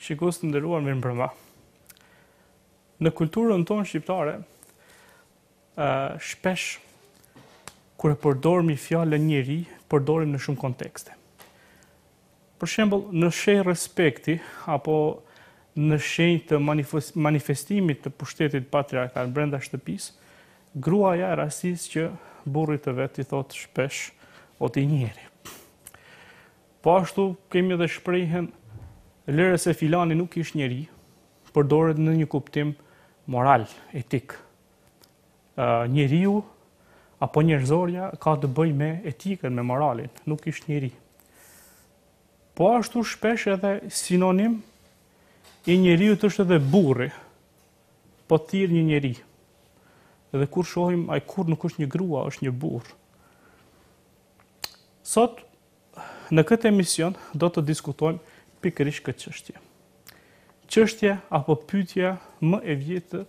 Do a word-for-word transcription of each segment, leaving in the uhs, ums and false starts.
Shikues të nderuar, mirëmbrëma. Në kulturën tonë shqiptare, uh, shpesh kur e përdorim fjalën njeri, përdorim në shumë kontekste. Për shembull, në shenjë respekti apo në shenjë të manifestimit të pushtetit patriarkal brenda shtëpisë, gruaja e rastisë që burrit të vet i thot shpesh o ti njeri. Po ashtu kemi edhe shprehjen lere se filani nuk ish njeri, përdoret në një kuptim moral, etik. Uh, njeriu apo njerëzorja ka të bëj me etikën, me moralin, nuk ish njeri. Po ashtu shpesh edhe sinonim i njeriut është edhe burri, po thirr një njeri. Edhe kur shohim, ai kur nuk është një grua, është një burr. Sot, në këtë emision, do të diskutojmë pikërisht këtë çështje. Çështje apo pyetje më e vjetër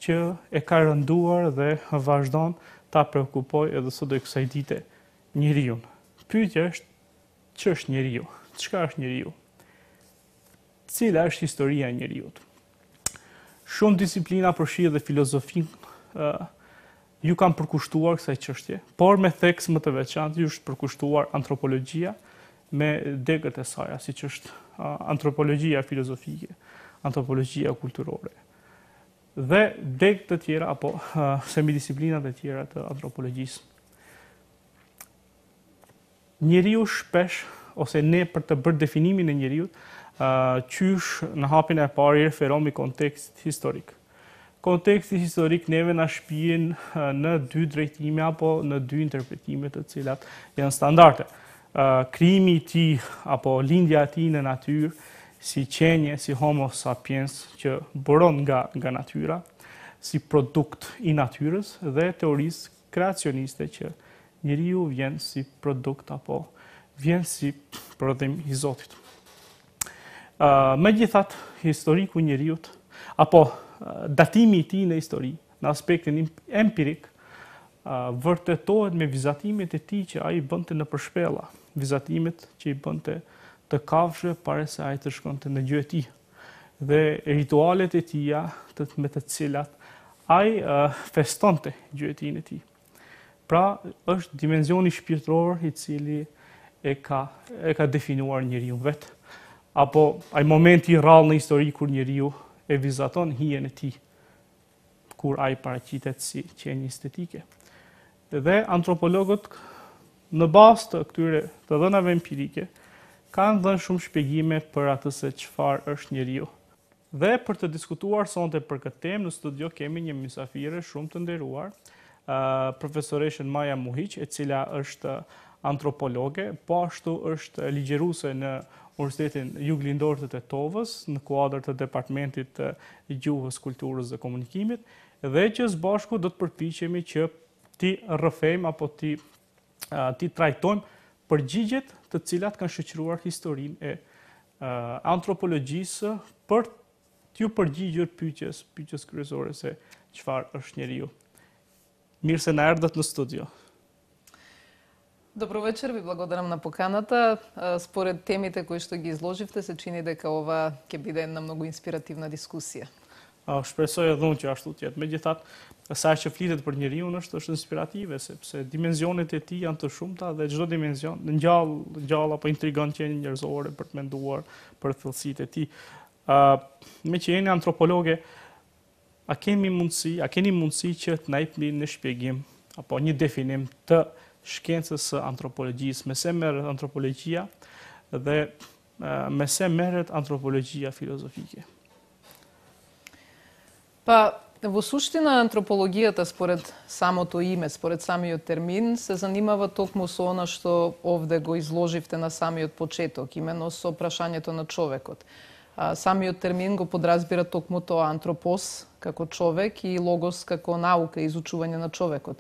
që e ka rënduar dhe vazhdon ta preokupoj edhe sot e kësaj dite njeriu. Pyetja është, ç'është njeriu? Çka është njeriu? Cila është historia e njeriut? Shumë disiplina përfshi dhe filozofinë uh, ju kanë përkushtuar kësaj çështje, por me theks më të veçantë ju është përkushtuar antropologjia me degët e saj, siç është uh, antropologjia filozofike, antropologjia kulturore. Dhe degët të tjera apo uh, semidisiplinat e tjera të antropologjisë. Njeriu shpesh ose ne për të bërë definimin e njeriut, uh, qysh në hapin e parë i referomi kontekst historik. Konteksti historik neve na shpihen uh, në dy drejtime apo në dy interpretime të cilat janë standarde. Uh, krijimi i tij apo lindja e tij në natyrë si qenje, si homo sapiens që buron nga nga natyra, si produkt i natyrës dhe teorisë kreacioniste që njeriu vjen si produkt apo vjen si prodhim i Zotit. Uh, Megjithatë, historiku i njeriut apo uh, datimi i tij në histori, në aspektin empirik, uh, vërtetohet me vizatimet e tij që ai bënte në përshpella, vizatimet që i bënte të kafshë para se ai të shkonte në gjë e tij, dhe ritualet e tija të, me të cilat ai uh, festonte gjëtin e tij. Pra, është dimensioni shpirtëror i cili e ka, e ka definuar njeriu vet, apo ai momenti i rrallë në histori kur njeriu e vizaton hijen e tij, kur ai paraqitet si qenie estetike. Dhe antropologët në bazë të këtyre të dhënave empirike kanë dhënë shumë shpjegime për atë se çfarë është njeriu. Dhe për të diskutuar sonte për këtë temë në studio kemi një mysafire shumë të nderuar, uh, profesoreshën Maja Muhiq, e cila është antropologe, po ashtu është ligjeruese në Universitetin Juglindor të Tetovës, në kuadër të Departamentit të Gjuhës, Kulturës dhe Komunikimit, dhe që së bashku do të përpiqemi që ti rrëfejmë apo ti, uh, ti trajtojmë përgjigjet të cilat kanë shoqëruar historinë e uh, antropologjisë për t'ju përgjigjur pyetjes, pyetjes kryesore se çfarë është njeriu. Mirë se na erdhët në studio. Добро вечер, ви благодарам на поканата. Според темите кои што ги изложивте, се чини дека ова ќе биде една многу инспиративна дискусија. Shpresoj edhe unë që ashtu të jetë. Megjithatë, sa që flitet për njeriu është është inspirative, sepse dimensionet e tij janë të shumta dhe çdo dimension ngjall ngjall apo intrigon qenien njerëzore për të menduar për thellësitë e tij. Uh, me që jeni antropologe, a kemi mundësi, a keni mundësi që të na jepni në shpjegim apo një definim të shkencës së antropologjisë, me se merret antropologjia dhe uh, me se merret antropologjia filozofike? Па, во суштина антропологијата според самото име, според самиот термин, се занимава токму со она што овде го изложивте на самиот почеток, именно со прашањето на човекот. А, самиот термин го подразбира токму тоа антропос како човек и логос како наука и изучување на човекот.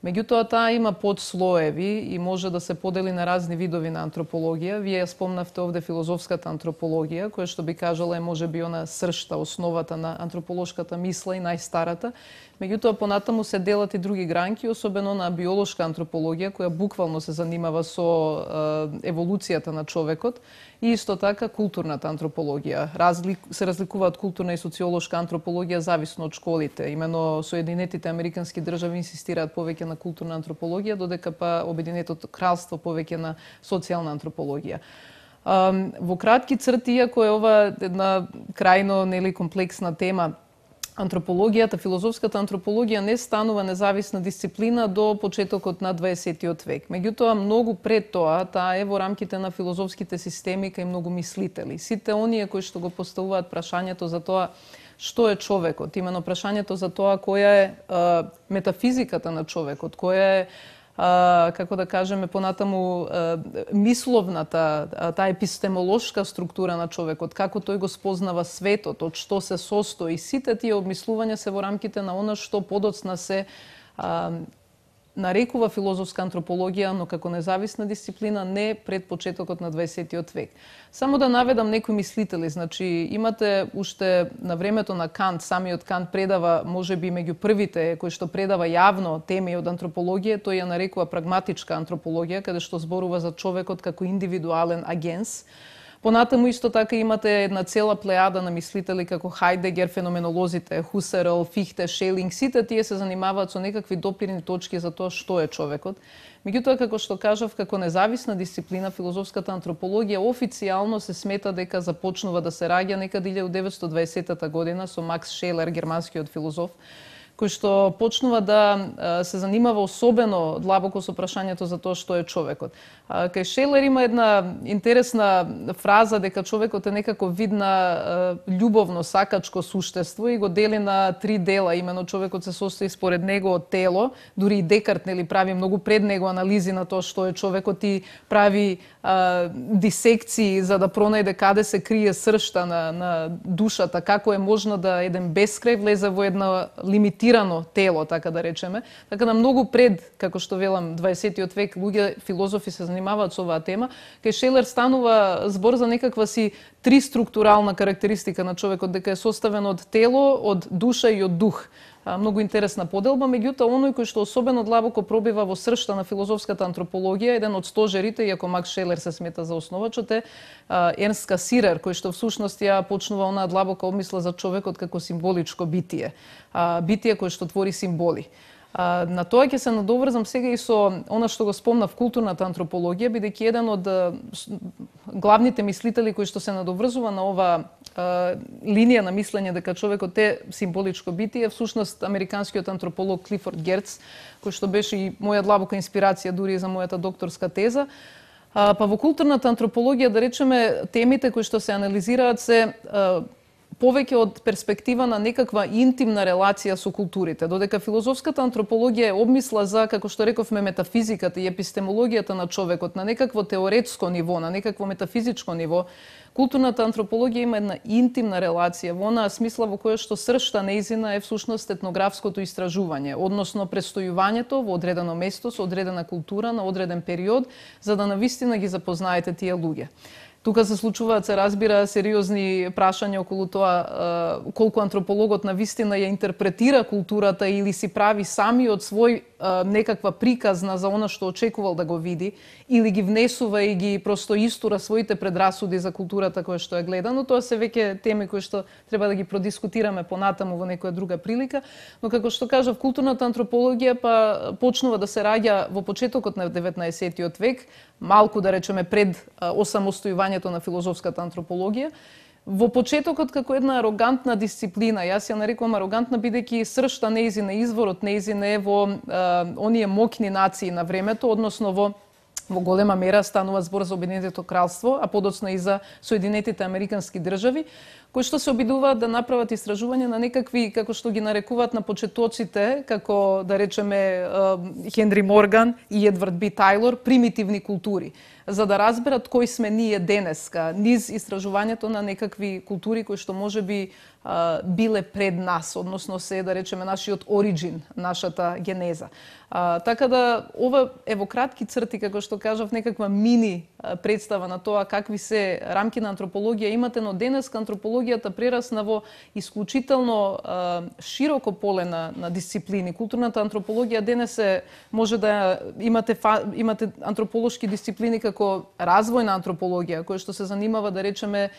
Меѓутоа, таа има подслоеви и може да се подели на разни видови на антропологија. Вие ја спомнавте овде филозофската антропологија, која што би кажала е можеби она сршта, основата на антрополошката мисла и најстарата. Меѓутоа, понатаму се делат и други гранки, особено на биолошка антропологија, која буквално се занимава со еволуцијата на човекот, и исто така културната антропологија. Разлик, се разликуваат културна и социолошка антропологија зависно од школите. Имено Соединетите Американски држави инсистираат повеќе на културна антропологија, додека па Обединетото кралство повеќе на социјална антропологија. Во кратки црти, иако е ова една крајно нели комплексна тема, антропологијата, филозофската антропологија не станува независна дисциплина до почетокот на дваесеттиот век. Меѓутоа, многу пред тоа, таа е во рамките на филозофските системи кај многу мислители. Сите оние кои што го поставуваат прашањето за тоа што е човекот, имено прашањето за тоа која е а, метафизиката на човекот, која е Uh, како да кажеме понатаму uh, мисловната, uh, таа епистемолошка структура на човекот, како тој го спознава светот, од што се состои, сите тие обмислувања се во рамките на она што подоцна се uh, нарекува филозофска антропологија, но како независна дисциплина не пред почетокот на дваесеттиот век. Само да наведам некои мислители, значи имате уште на времето на Кант, самиот Кант предава можеби меѓу првите кои што предава јавно теми од антропологија, тој ја нарекува прагматичка антропологија, каде што зборува за човекот како индивидуален агенс. Понатаму исто така имате една цела плејада на мислители како Хајдегер, феноменолозите, Хусерл, Фихте, Шелинг, сите тие се занимаваат со некакви допирни точки за тоа што е човекот. Меѓутоа, како што кажав, како независна дисциплина, филозофската антропологија официјално се смета дека започнува да се раѓа некаде илјадум деветстотини и дваесетта година со Макс Шелер, германскиот филозоф, кој што почнува да се занимава особено длабоко со прашањето за тоа што е човекот. Кај Шелер има една интересна фраза дека човекот е некако вид на љубовно сакачко суштество и го дели на три дела. Имено човекот се состои според него од тело, дури и Декарт нели прави многу пред него анализи на тоа што е човекот и прави а, дисекции за да пронајде каде се крие сршта на, на душата, како е можно да еден бескрај влезе во една лимитирано тело, така да речеме. Така да многу пред, како што велам, дваесеттиот век, луѓе филозофи се занимаваат со оваа тема. Кај Шелер станува збор за некаква си три структурална карактеристика на човекот, дека е составен од тело, од душа и од дух. Многу интересна поделба, меѓутоа оној кој што особено длабоко пробива во сршта на филозофската антропологија, еден од стожерите, иако Макс Шелер се смета за основачот, е Ернст Касирер, кој што всушност ја почнува онаа длабока обмисла за човекот како символичко битие, битие кое што твори символи. На тоа ќе се надоврзам сега и со она што го спомнав културната антропологија, бидејќи еден од главните мислители кои што се надоврзува на ова линија на мислење дека човекот е символичко битие, всушност американскиот антрополог Клифорд Герц, кој што беше и моја длабока инспирација дури за мојата докторска теза. Па во културната антропологија, да речеме, темите кои што се анализираат се повеќе од перспектива на некаква интимна релација со културите, додека филозофската антропологија е обмисла за, како што рековме, метафизиката и епистемологијата на човекот на некакво теоретско ниво, на некакво метафизичко ниво. Културната антропологија има една интимна релација во онаа смисла во која што сршта нејзина е всушност етнографското истражување, односно престојувањето во одредено место со одредена култура на одреден период, за да навистина ги запознаете тие луѓе. Тука се случуваат, се разбира, сериозни прашања околу тоа колку антропологот навистина ја интерпретира културата или си прави самиот свој некаква приказна за она што очекувал да го види, или ги внесува и ги просто истура своите предрасуди за културата која што ја гледа, но тоа се веќе теми кои што треба да ги продискутираме понатаму во некоја друга прилика. Но како што кажав, културната антропологија па почнува да се раѓа во почетокот на деветнаесеттиот век, малку да речеме пред осамостојувањето на филозофската антропологија. Во почетокот како една арогантна дисциплина, јас ја нарекувам арогантна бидејќи сршта нејзина, изворот нејзина е во а, оние моќни нации на времето, односно во во голема мера станува збор за Обединетото кралство, а подоцна и за Соединетите Американски држави, кои што се обидуваат да направат истражување на некакви, како што ги нарекуваат на почетоците, како да речеме Хенри Морган и Едвард Би Тајлор, примитивни култури. за да разберат кои сме ние денеска, низ истражувањето на некакви култури кои што можеби а, биле пред нас, односно се, да речеме, нашиот ориджин, нашата генеза. А, така да, ова е во кратки црти, како што кажав, некаква мини а, представа на тоа какви се рамки на антропологија имате, но денеска антропологијата прерасна во исклучително а, широко поле на, на дисциплини. Културната антропологија денес е, може да имате, фа, имате антрополошки дисциплини како развојна антропологија, која што се занимава, да речеме,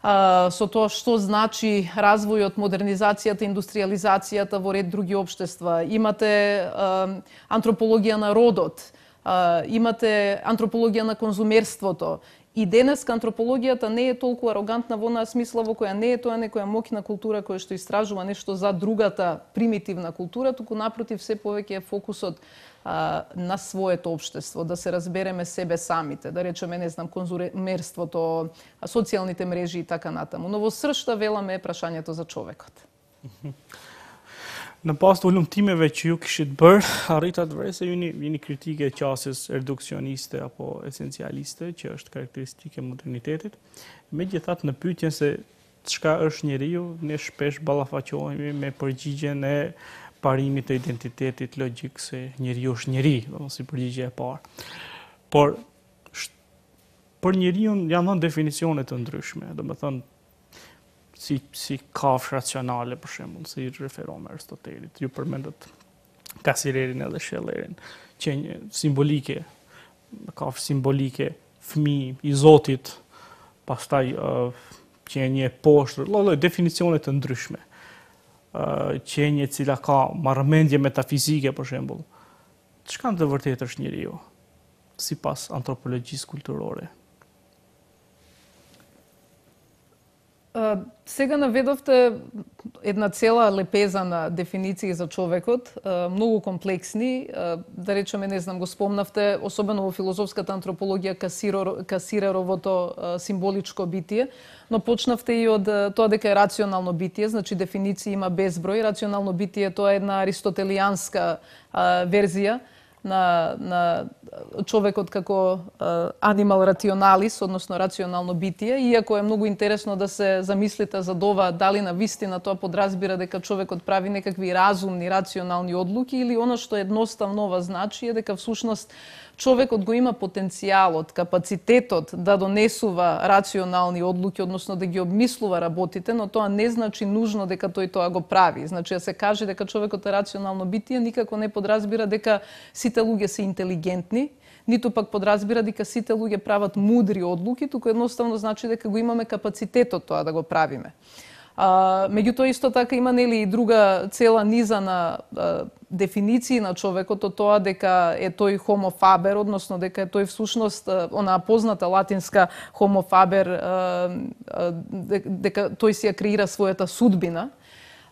со тоа што значи развојот, модернизацијата, индустриализацијата во ред други општества. Имате а, антропологија на родот, а, имате антропологија на конзумерството. И денеска антропологијата не е толку арогантна во онаа смисла во која не е тоа некоја моќна култура која што истражува нешто за другата примитивна култура, туку напротив се повеќе е фокусот а, на своето општество, да се разбереме себе самите, да речеме, не знам, конзумерството, социјалните мрежи и така натаму. Но во сршта веламе е прашањето за човекот. Në pas të ullumtimeve që ju kishit bërë, arritat vërë se jeni, jeni kritike e qasjes reduksioniste apo esencialiste, që është karakteristike modernitetit. Megjithatë, në pyetjen se çka është njeriu, ne shpesh ballafaqohemi me përgjigjen e parimit të identitetit logjik se njeriu është njeri, do si përgjigje e parë. Por për njeriu janë dhënë definicione të ndryshme, do të thonë si si kafsh racionale për shembull, si referon me Aristotelit. Ju përmendët Kasirerin edhe Shellerin, qenje simbolike, kafsh simbolike, fëmijë i Zotit, pastaj uh, qenje poshtë, lloj definicione të ndryshme. Uh, qenje e cila ka marrëmendje metafizike për shembull. Çka në të vërtetë është njeriu sipas antropologjisë kulturore? Uh, сега наведовте една цела лепеза на дефиниции за човекот, uh, многу комплексни, uh, да речеме, не знам, го спомнавте, особено во филозофската антропологија, Касиро, Касиреровото uh, символичко битие, но почнавте и од uh, тоа дека е рационално битие, значи дефиниции има безброј. Рационално битие тоа е една аристотелијанска uh, верзија на, на човекот како animal rationalis, односно рационално битие, иако е многу интересно да се замислите за ова, дали на вистина тоа подразбира дека човекот прави некакви разумни, рационални одлуки, или оно што едноставно ова значи е дека всушност човекот го има потенцијалот, капацитетот да донесува рационални одлуки, односно да ги обмислува работите, но тоа не значи нужно дека тој тоа го прави. Значи, да се каже дека човекот е рационално битие, никако не подразбира дека сите луѓе се интелигентни, ниту пак подразбира дека сите луѓе прават мудри одлуки, туку едноставно значи дека го имаме капацитетот тоа да го правиме. А, меѓутоа исто така има нели и друга цела низа на а, дефиниции на човекот, од тоа дека е тој homo faber, односно дека е тој всушност онаа позната латинска homo faber, а, а, дека тој си ја креира својата судбина.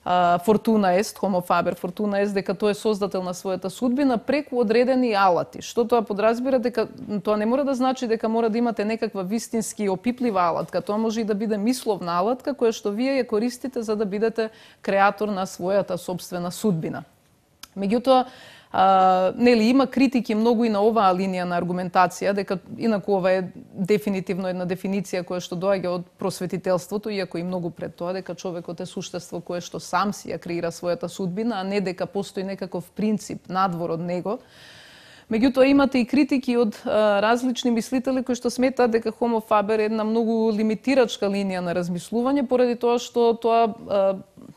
Uh, fortuna est, homo faber, fortuna est, дека тој е создател на својата судбина преку одредени алати. Што тоа подразбира дека тоа не мора да значи дека мора да имате некаква вистински опиплива алатка, тоа може и да биде мисловна алатка која што вие ја користите за да бидете креатор на својата собствена судбина. Меѓутоа, Uh, нели, има критики многу и на оваа линија на аргументација, дека инаку ова е дефинитивно една дефиниција која што доаѓа од просветителството, иако и многу пред тоа, дека човекот е суштество кое што сам си ја креира својата судбина, а не дека постои некаков принцип надвор од него. Меѓутоа имате и критики од а, различни мислители кои што сметаат дека homo faber е една многу лимитирачка линија на размислување, поради тоа што тоа а,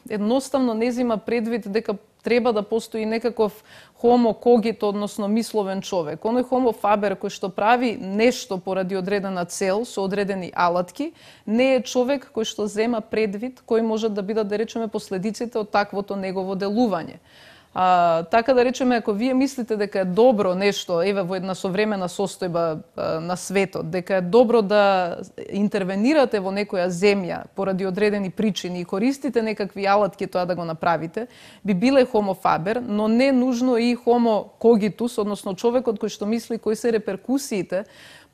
едноставно не зема предвид дека треба да постои некаков homo cogito, односно мисловен човек. Оној homo faber кој што прави нешто поради одредена цел со одредени алатки, не е човек кој што зема предвид кој може да бидат, да речеме, последиците од таквото негово делување. А, така да речеме, ако вие мислите дека е добро нешто, еве во една современа состојба а, на светот, дека е добро да интервенирате во некоја земја поради одредени причини и користите некакви алатки тоа да го направите, би биле homo faber, но не нужно и homo cogitus, односно човекот кој што мисли кои се реперкусиите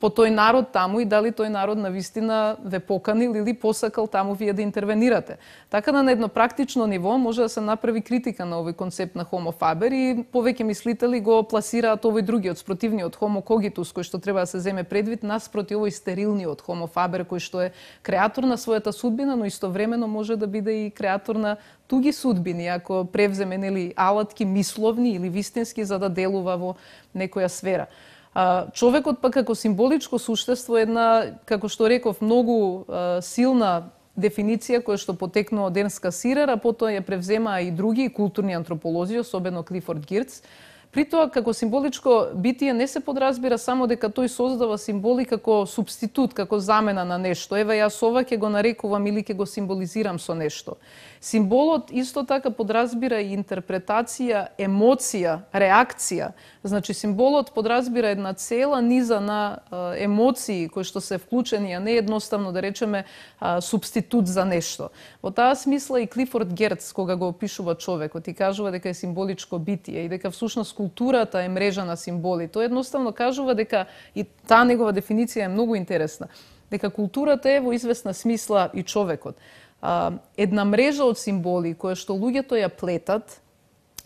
по тој народ таму и дали тој народ навистина ве поканил или посакал таму вие да интервенирате. Така да на едно практично ниво може да се направи критика на овој концепт на homo faber и повеќе мислители го пласираат овој другиот, спротивниот homo cogitus, кој што треба да се земе предвид наспроти овој стерилниот homo faber, кој што е креатор на својата судбина, но истовремено може да биде и креатор на туги судбини, ако превземе нели алатки мисловни или вистински за да делува во некоја сфера. А, човекот пак како символичко суштество е една, како што реков, многу а, силна дефиниција која што потекнува од Ернст Касирер, а потоа ја превземаа и други културни антрополози, особено Клифорд Гирц. При тоа, како символичко битие не се подразбира само дека тој создава символи како субститут, како замена на нешто. Ева, јас ова ќе го нарекувам или ќе го символизирам со нешто. Символот исто така подразбира и интерпретација, емоција, реакција. Значи, символот подразбира една цела низа на а, емоции кои што се вклучени, а не едноставно да речеме а, субститут за нешто. Во таа смисла и Клифорд Герц, кога го опишува човекот и кажува дека е символичко битие и дека всушност културата е мрежа на символи, тој едноставно кажува дека, и таа негова дефиниција е многу интересна, дека културата е во известна смисла и човекот. Една мрежа од символи која што луѓето ја плетат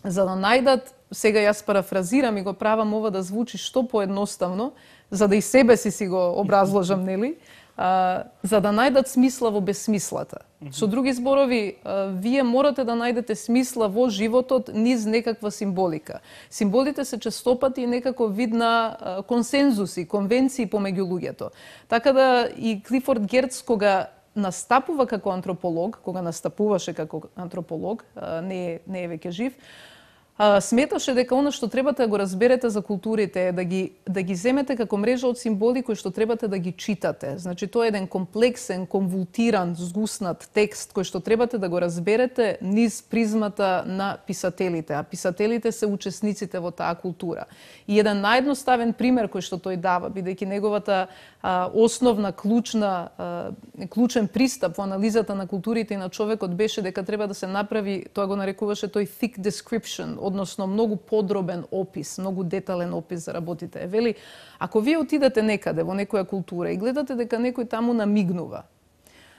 за да најдат, сега јас парафразирам и го правам ова да звучи што поедноставно, за да и себе си си го образложам, нели, а, за да најдат смисла во безсмислата. Mm-hmm. Со други зборови, а, вие морате да најдете смисла во животот низ некаква символика. Символите се честопати некако вид на а, консензуси, конвенции помеѓу луѓето. Така да и Клифорд Герц, кога настапува како антрополог, кога настапуваше како антрополог, не е, не е веќе жив, сметаше дека она што требате да го разберете за културите е да ги, да ги земете како мрежа од символи кои што требате да ги читате. Значи, тоа е еден комплексен, конвултиран, згуснат текст кој што требате да го разберете низ призмата на писателите, а писателите се учесниците во таа култура. И еден наједноставен пример кој што тој дава, бидејќи неговата а, основна, клучна, а, клучен пристап во анализата на културите и на човекот беше дека треба да се направи, тоа го нарекуваше тој thick description, односно многу подробен опис, многу детален опис за работите. Вели, ако вие отидете некаде во некоја култура и гледате дека некој таму намигнува,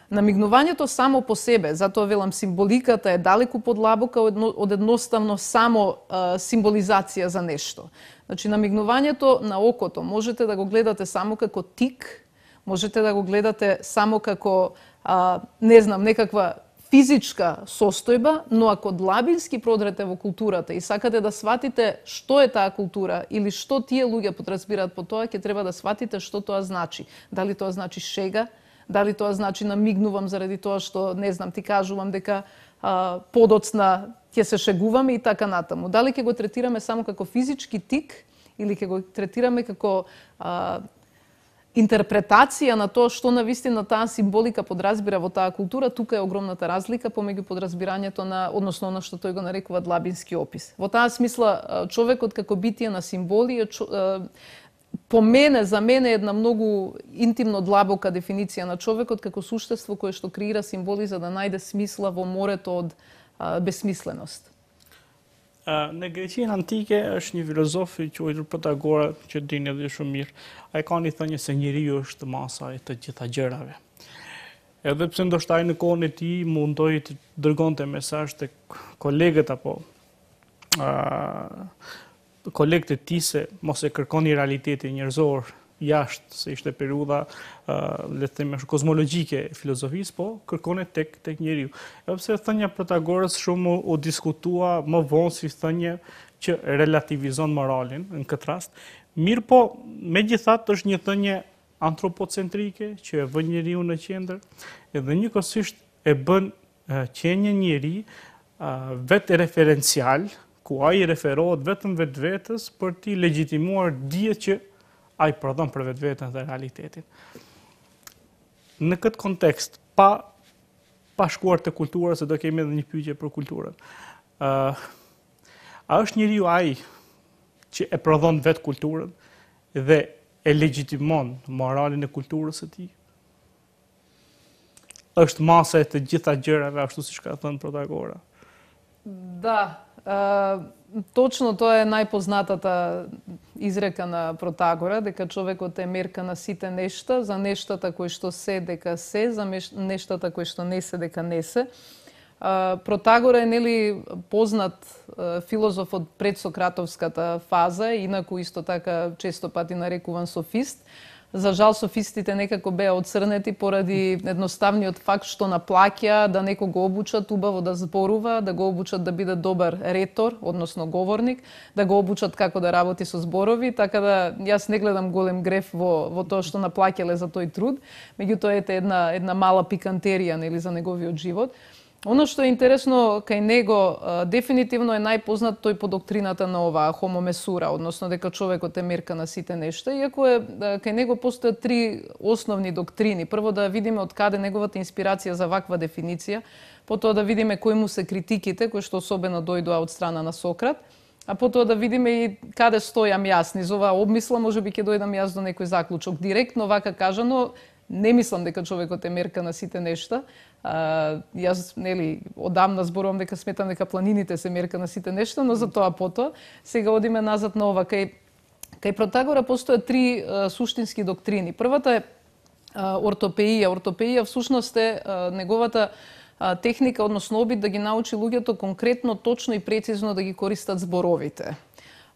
намигнувањето само по себе, затоа велам символиката е далеку подлабока од едноставно само а, символизација за нешто. Значи, намигнувањето на окото можете да го гледате само како тик, можете да го гледате само како, а, не знам, некаква физичка состојба, но ако длабински продрете во културата и сакате да сватите што е таа култура или што тие луѓе подразбираат по тоа, ќе треба да сватите што тоа значи. Дали тоа значи шега, дали тоа значи намигнувам заради тоа што, не знам, ти кажувам дека а, подоцна ќе се шегуваме и така натаму. Дали ќе го третираме само како физички тик или ќе го третираме како а, интерпретација на тоа што навистина таа символика подразбира во таа култура, тука е огромната разлика помеѓу подразбирањето на, односно на што тој го нарекува длабински опис. Во таа смисла, човекот како битие на символи е, по мене, за мене, една многу интимно длабока дефиниција на човекот како суштество кое што креира символи за да најде смисла во морето од а, безсмисленост. Në Greqinë antike është një filozof i quajtur Pythagora, që dini edhe shumë mirë. Ai ka një thënie se njeriu është masa e të gjitha gjërave. Edhe pse ndoshta ai në kohën e tij mundoi të dërgonte mesazh tek kolegët apo uh, kolegët e tij se mos e kërkoni realitetin njerëzor jashtë, se ishte periudha uh, le të themi kozmologjike e filozofisë, po kërkone tek tek njeriu. Edhe pse thënia Pythagorës shumë u diskutua më vonë si thënie që relativizon moralin në këtë rast. Mirë po, megjithatë është një thënie antropocentrike që e vën njeriu në qendër, edhe njëkohësisht e bën uh, qenien njeri uh, vetë referencial, ku ai referohet vetëm vetvetes për t'i legjitimuar dijet që ai prodhon për vetveten dhe realitetin. Në këtë kontekst, pa, pa shkuar të kultura, se do kemi edhe një pyetje për kulturën, uh, a është njeriu ai që e prodhon vetë kulturën dhe e legjitimon moralin e kulturës së tij? Është masa e të gjitha gjërave, ashtu siç ka thënë Pythagora? Да, uh, точно тоа е најпознатата изрека на Протагора, дека човекот е мерка на сите нешта, за нештата кои што се дека се, за нештата кои што не се дека не се. Протагора е нели познат филозоф од предсократовската фаза, инаку исто така често пати нарекуван софист. За жал софистите некако беа отцрнети поради едноставниот факт што наплаќа да некого го обучат убаво да зборува, да го обучат да биде добар ретор, односно говорник, да го обучат како да работи со зборови, така да јас не гледам голем греф во во тоа што наплаќале за тој труд, меѓутоа ете една една мала пикантерија нели за неговиот живот. Оно што е интересно кај него, дефинитивно е најпознат тој по доктрината на оваа homo mesura, односно дека човекот е мерка на сите нешта, иако е кај него постојат три основни доктрини. Прво да видиме од каде неговата инспирација за ваква дефиниција, потоа да видиме кои му се критиките, кои што особено дојдоа од страна на Сократ, а потоа да видиме и каде стојам јас. Низ оваа обмисла можеби ќе дојдам јас до некој заклучок. Директно вака кажано, не мислам дека човекот е мерка на сите нешта. А, јас, нели, одамна зборувам дека сметам дека планините се мерка на сите нешта, но за тоа потоа. Сега одиме назад на ова. Кај, кај Протагора постојат три а, суштински доктрини. Првата е а, ортопеија. Ортопеија всушност е а, неговата а, техника, односно обид да ги научи луѓето конкретно, точно и прецизно да ги користат зборовите.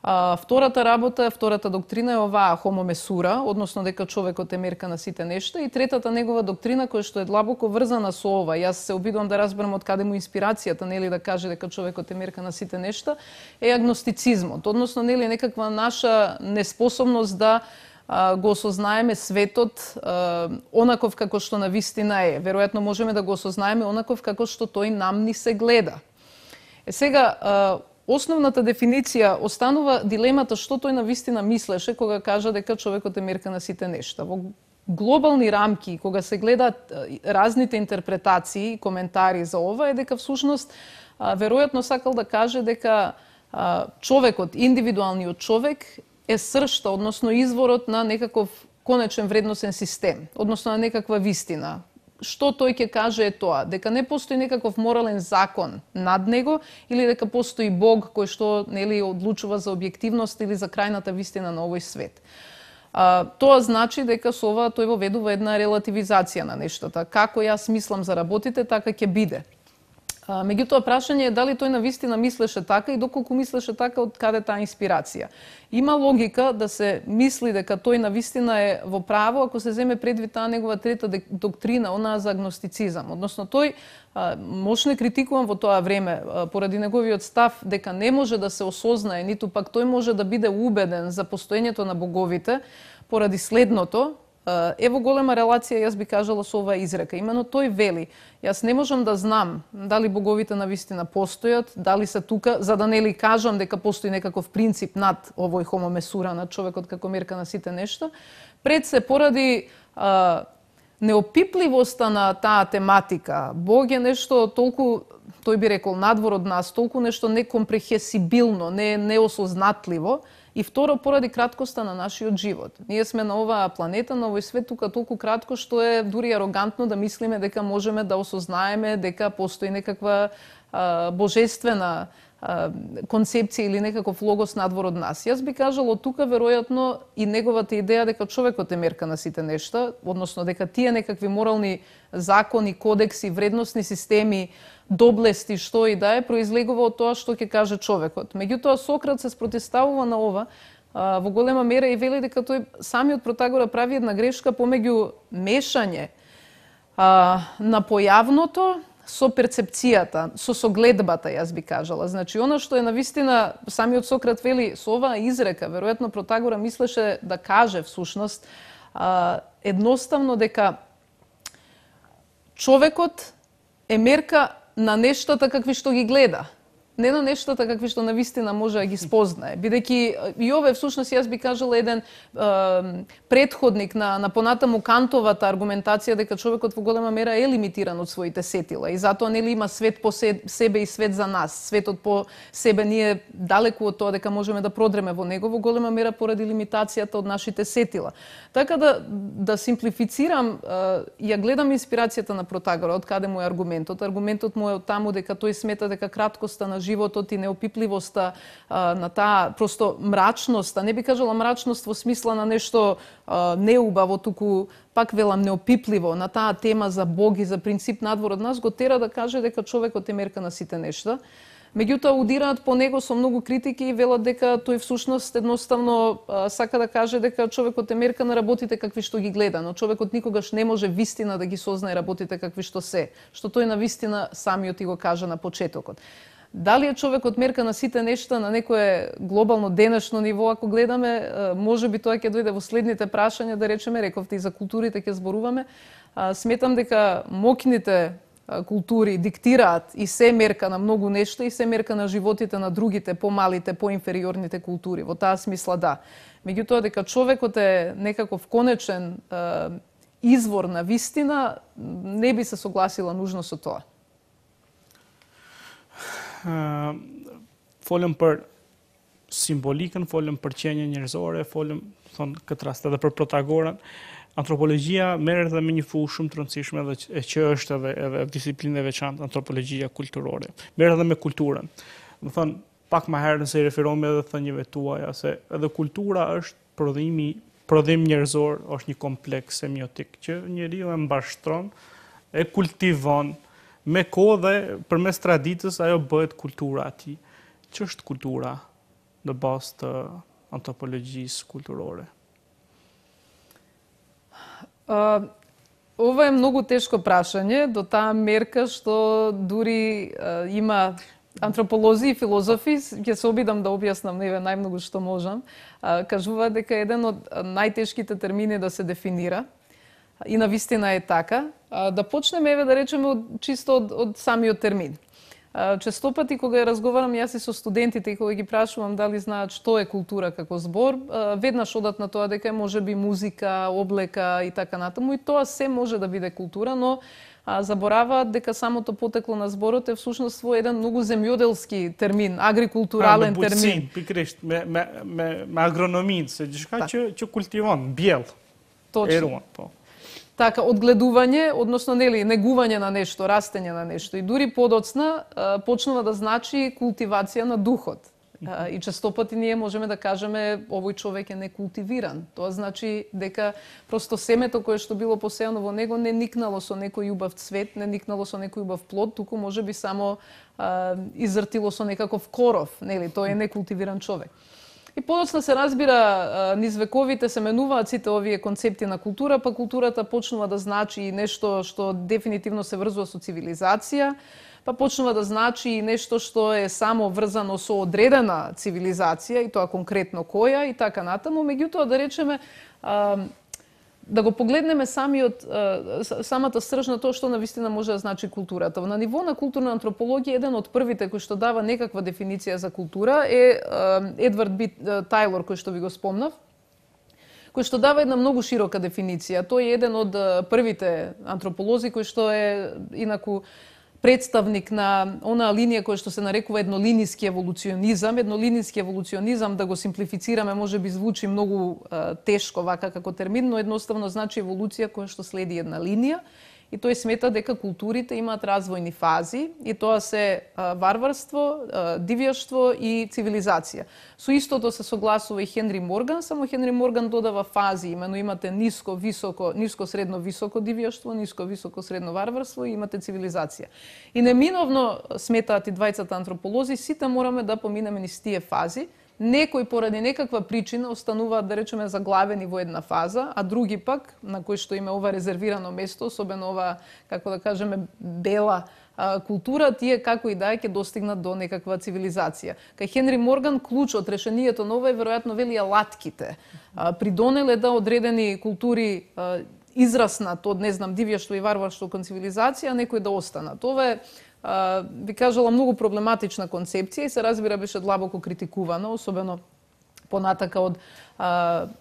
А, втората работа, втората доктрина е оваа homo mesura, односно дека човекот е мерка на сите нешта, и третата негова доктрина која што е длабоко врзана со ова. Јас се обидувам да разберам од каде му инспирацијата, нели, да каже дека човекот е мерка на сите нешта, е агностицизмот, односно нели некаква наша неспособност да а, го осознаеме светот а, онаков како што навистина е. Веројатно можеме да го осознаеме онаков како што тој нам ни се гледа. Е сега а, основната дефиниција останува дилемата што тој навистина мислеше кога кажа дека човекот е мерка на сите нешта. Во глобални рамки, кога се гледаат разните интерпретации и коментари за ова, е дека всушност веројатно сакал да каже дека човекот, индивидуалниот човек е сршта, односно изворот на некаков конечен вредносен систем, односно на некаква вистина. Што тој ќе каже е тоа, дека не постои некаков морален закон над него или дека постои Бог кој што нели одлучува за објективност или за крајната вистина на овој свет. А, тоа значи дека со ова тој воведува една релативизација на нештата. Како јас мислам за работите, така ќе биде. А, меѓутоа, прашање е дали тој навистина мислеше така и доколку мислеше така, од каде таа инспирација. Има логика да се мисли дека тој навистина е во право ако се земе предвид таа негова трета доктрина, онаа за агностицизам. Односно, тој а, мощно критикувам во тоа време а, поради неговиот став дека не може да се осознае, ниту пак тој може да биде убеден за постоењето на боговите поради следното. Ево голема релација, јас би кажала, со оваа изрека. Имено тој вели, јас не можам да знам дали боговите навистина постојат, дали се тука, за да нели кажам дека постои некаков принцип над овој homo mesura, над човекот како мерка на сите нешта, пред се поради а, неопипливоста на таа тематика. Бог е нешто толку, тој би рекол, надвор од нас, толку нешто некомпрехесибилно, не неосознатливо, и второ, поради краткоста на нашиот живот. Ние сме на оваа планета, на овој свет тука толку кратко што е дури арогантно да мислиме дека можеме да осознаеме дека постои некаква а, божествена а, концепција или некаков логос надвор од нас. Јас би кажала тука веројатно и неговата идеја дека човекот е мерка на сите нешта, односно дека тие некакви морални закони, кодекси, вредносни системи, доблести, што и да е, произлегува од тоа што ќе каже човекот. Меѓутоа, Сократ се спротивставува на ова а, во голема мера и вели дека тој самиот Протагора прави една грешка помеѓу мешање а, на појавното со перцепцијата, со согледбата, јас би кажала. Значи, она што е навистина, самиот Сократ вели со оваа изрека, веројатно Протагора мислеше да каже всушност а, едноставно дека човекот е мерка на нештата какви што ги гледа, не на нештата какви што навистина може да ги спознае. Бидејќи и ова е всушност, јас би кажала, еден е, предходник на, на понатаму Кантовата аргументација дека човекот во голема мера е лимитиран од своите сетила и затоа нели има свет по себе и свет за нас. Светот по себе ние далеку од тоа дека можеме да продреме во него во голема мера поради лимитацијата од нашите сетила. Така да да симплифицирам, ја гледам инспирацијата на Протагора, од каде му е аргументот. Аргументот му е од таму дека тој смета дека краткоста на животот и неопипливоста а, на таа просто мрачноста, не би кажала мрачност во смисла на нешто а, неубаво, туку пак велам неопипливо, на таа тема за Бог и за принцип надвор од нас, го тера да каже дека човекот е мерка на сите нешта. Меѓутоа, удираат по него со многу критики и велат дека тој всушност едноставно а, сака да каже дека човекот е мерка на работите какви што ги гледа, но човекот никогаш не може вистина да ги сознае работите какви што се, што тој на вистина самиот и го кажа на почетокот. Дали е човекот мерка на сите нешта на некое глобално денешно ниво, ако гледаме, може би тоа ќе дојде во следните прашања, да речеме, рековте и за културите ќе зборуваме. Сметам дека моќните култури диктираат и се мерка на многу нешта и се мерка на животите на другите, помалите, поинфериорните култури. Во таа смисла да. Меѓутоа дека човекот е некаков конечен е, извор на вистина, не би се согласила нужно со тоа. Uh, folëm për simbolikën, folëm për qenje njerëzore, folëm thon këtë rast edhe për Protagoran. Antropologjia merret edhe me një fushë shumë të rëndësishme edhe e që është edhe edhe disiplinë e veçantë, antropologjia kulturore. Merret edhe me kulturën. Do thon pak më herë nëse i referohemi edhe thënieve tuaja se edhe kultura është prodhimi, prodhim njerëzor, është një kompleks semiotik që njeriu e mbashtron, e kultivon me kohë dhe përmes traditës ajo bëhet kultura e tij. Ç'është kultura në bazë të antropologjisë kulturore? Uh, ова е многу тешко прашање, до таа мерка што дури uh, има антрополози и филозофи, ќе се обидам да објаснам неве најмногу што можам, uh, кажуваат дека еден од најтешките термини да се дефинира, и на вистина е така, да почнеме еве да речеме од, чисто од, од самиот термин. Често пати кога ја разговарам јас и со студентите и кога ги прашувам дали знаат што е култура како збор, веднаш одат на тоа дека може би музика, облека и така натаму, и тоа се може да биде култура, но забораваат дека самото потекло на зборот е всушност во еден многу земјоделски термин, агрикултурален термин. Me buqësin, pikrisht, me, me, me, me agronomin, se gjithka që, që kultivon, bjell. Точно. Eruan, po. Така, одгледување, односно нели, негување на нешто, растење на нешто. И дури подоцна почнува да значи култивација на духот. И често пати ние можеме да кажеме овој човек е некултивиран. Тоа значи дека просто семето кое што било посејано во него не никнало со некој убав цвет, не никнало со некој убав плод, туку можеби само а, изртило со некаков коров, нели, тој е некултивиран човек. И подоцна се разбира, низ вековите се менуваат сите овие концепти на култура, па културата почнува да значи нешто што дефинитивно се врзува со цивилизација, па почнува да значи нешто што е само врзано со одредена цивилизација, и тоа конкретно која, и така натаму. Меѓутоа, да речеме, да го погледнеме самиот, самата срж на тоа што навистина може да значи културата. На ниво на културна антропологија, еден од првите кој што дава некаква дефиниција за култура е Едвард Би Тајлор, кој што ви го спомнав, кој што дава една многу широка дефиниција. Тој е еден од првите антрополози кој што е инаку представник на онаа линија која што се нарекува еднолиниски еволуционизам. Еднолиниски еволуционизам, да го симплифицираме, може би звучи многу е, тешко вака како термин, но едноставно значи еволуција која што следи една линија. И тој смета дека културите имаат развојни фази, и тоа се а, варварство, а, дивјаштво и цивилизација. Со истото се согласува и Хенри Морган, само Хенри Морган додава фази, имено имате ниско, високо, ниско, средно, високо дивјаштво, ниско, високо, средно варварство и имате цивилизација. И неминовно сметаат и двајцата антрополози, сите мораме да поминеме низ тие фази. Некои поради некаква причина остануваат, да речеме, заглавени во една фаза, а други пак, на кои што има ова резервирано место, особено ова, како да кажеме, бела а, култура, тие како и да е ќе достигнат до некаква цивилизација. Кај Хенри Морган клучот, решението на ова е веројатно вели алатките. А, придонеле да одредени култури а, израснат од, не знам, дивјаштво и варварство кон цивилизација, а некои да останат. Ова е, Uh, би кажала, многу проблематична концепција и се разбира беше длабоко критикувана, особено понатака од uh,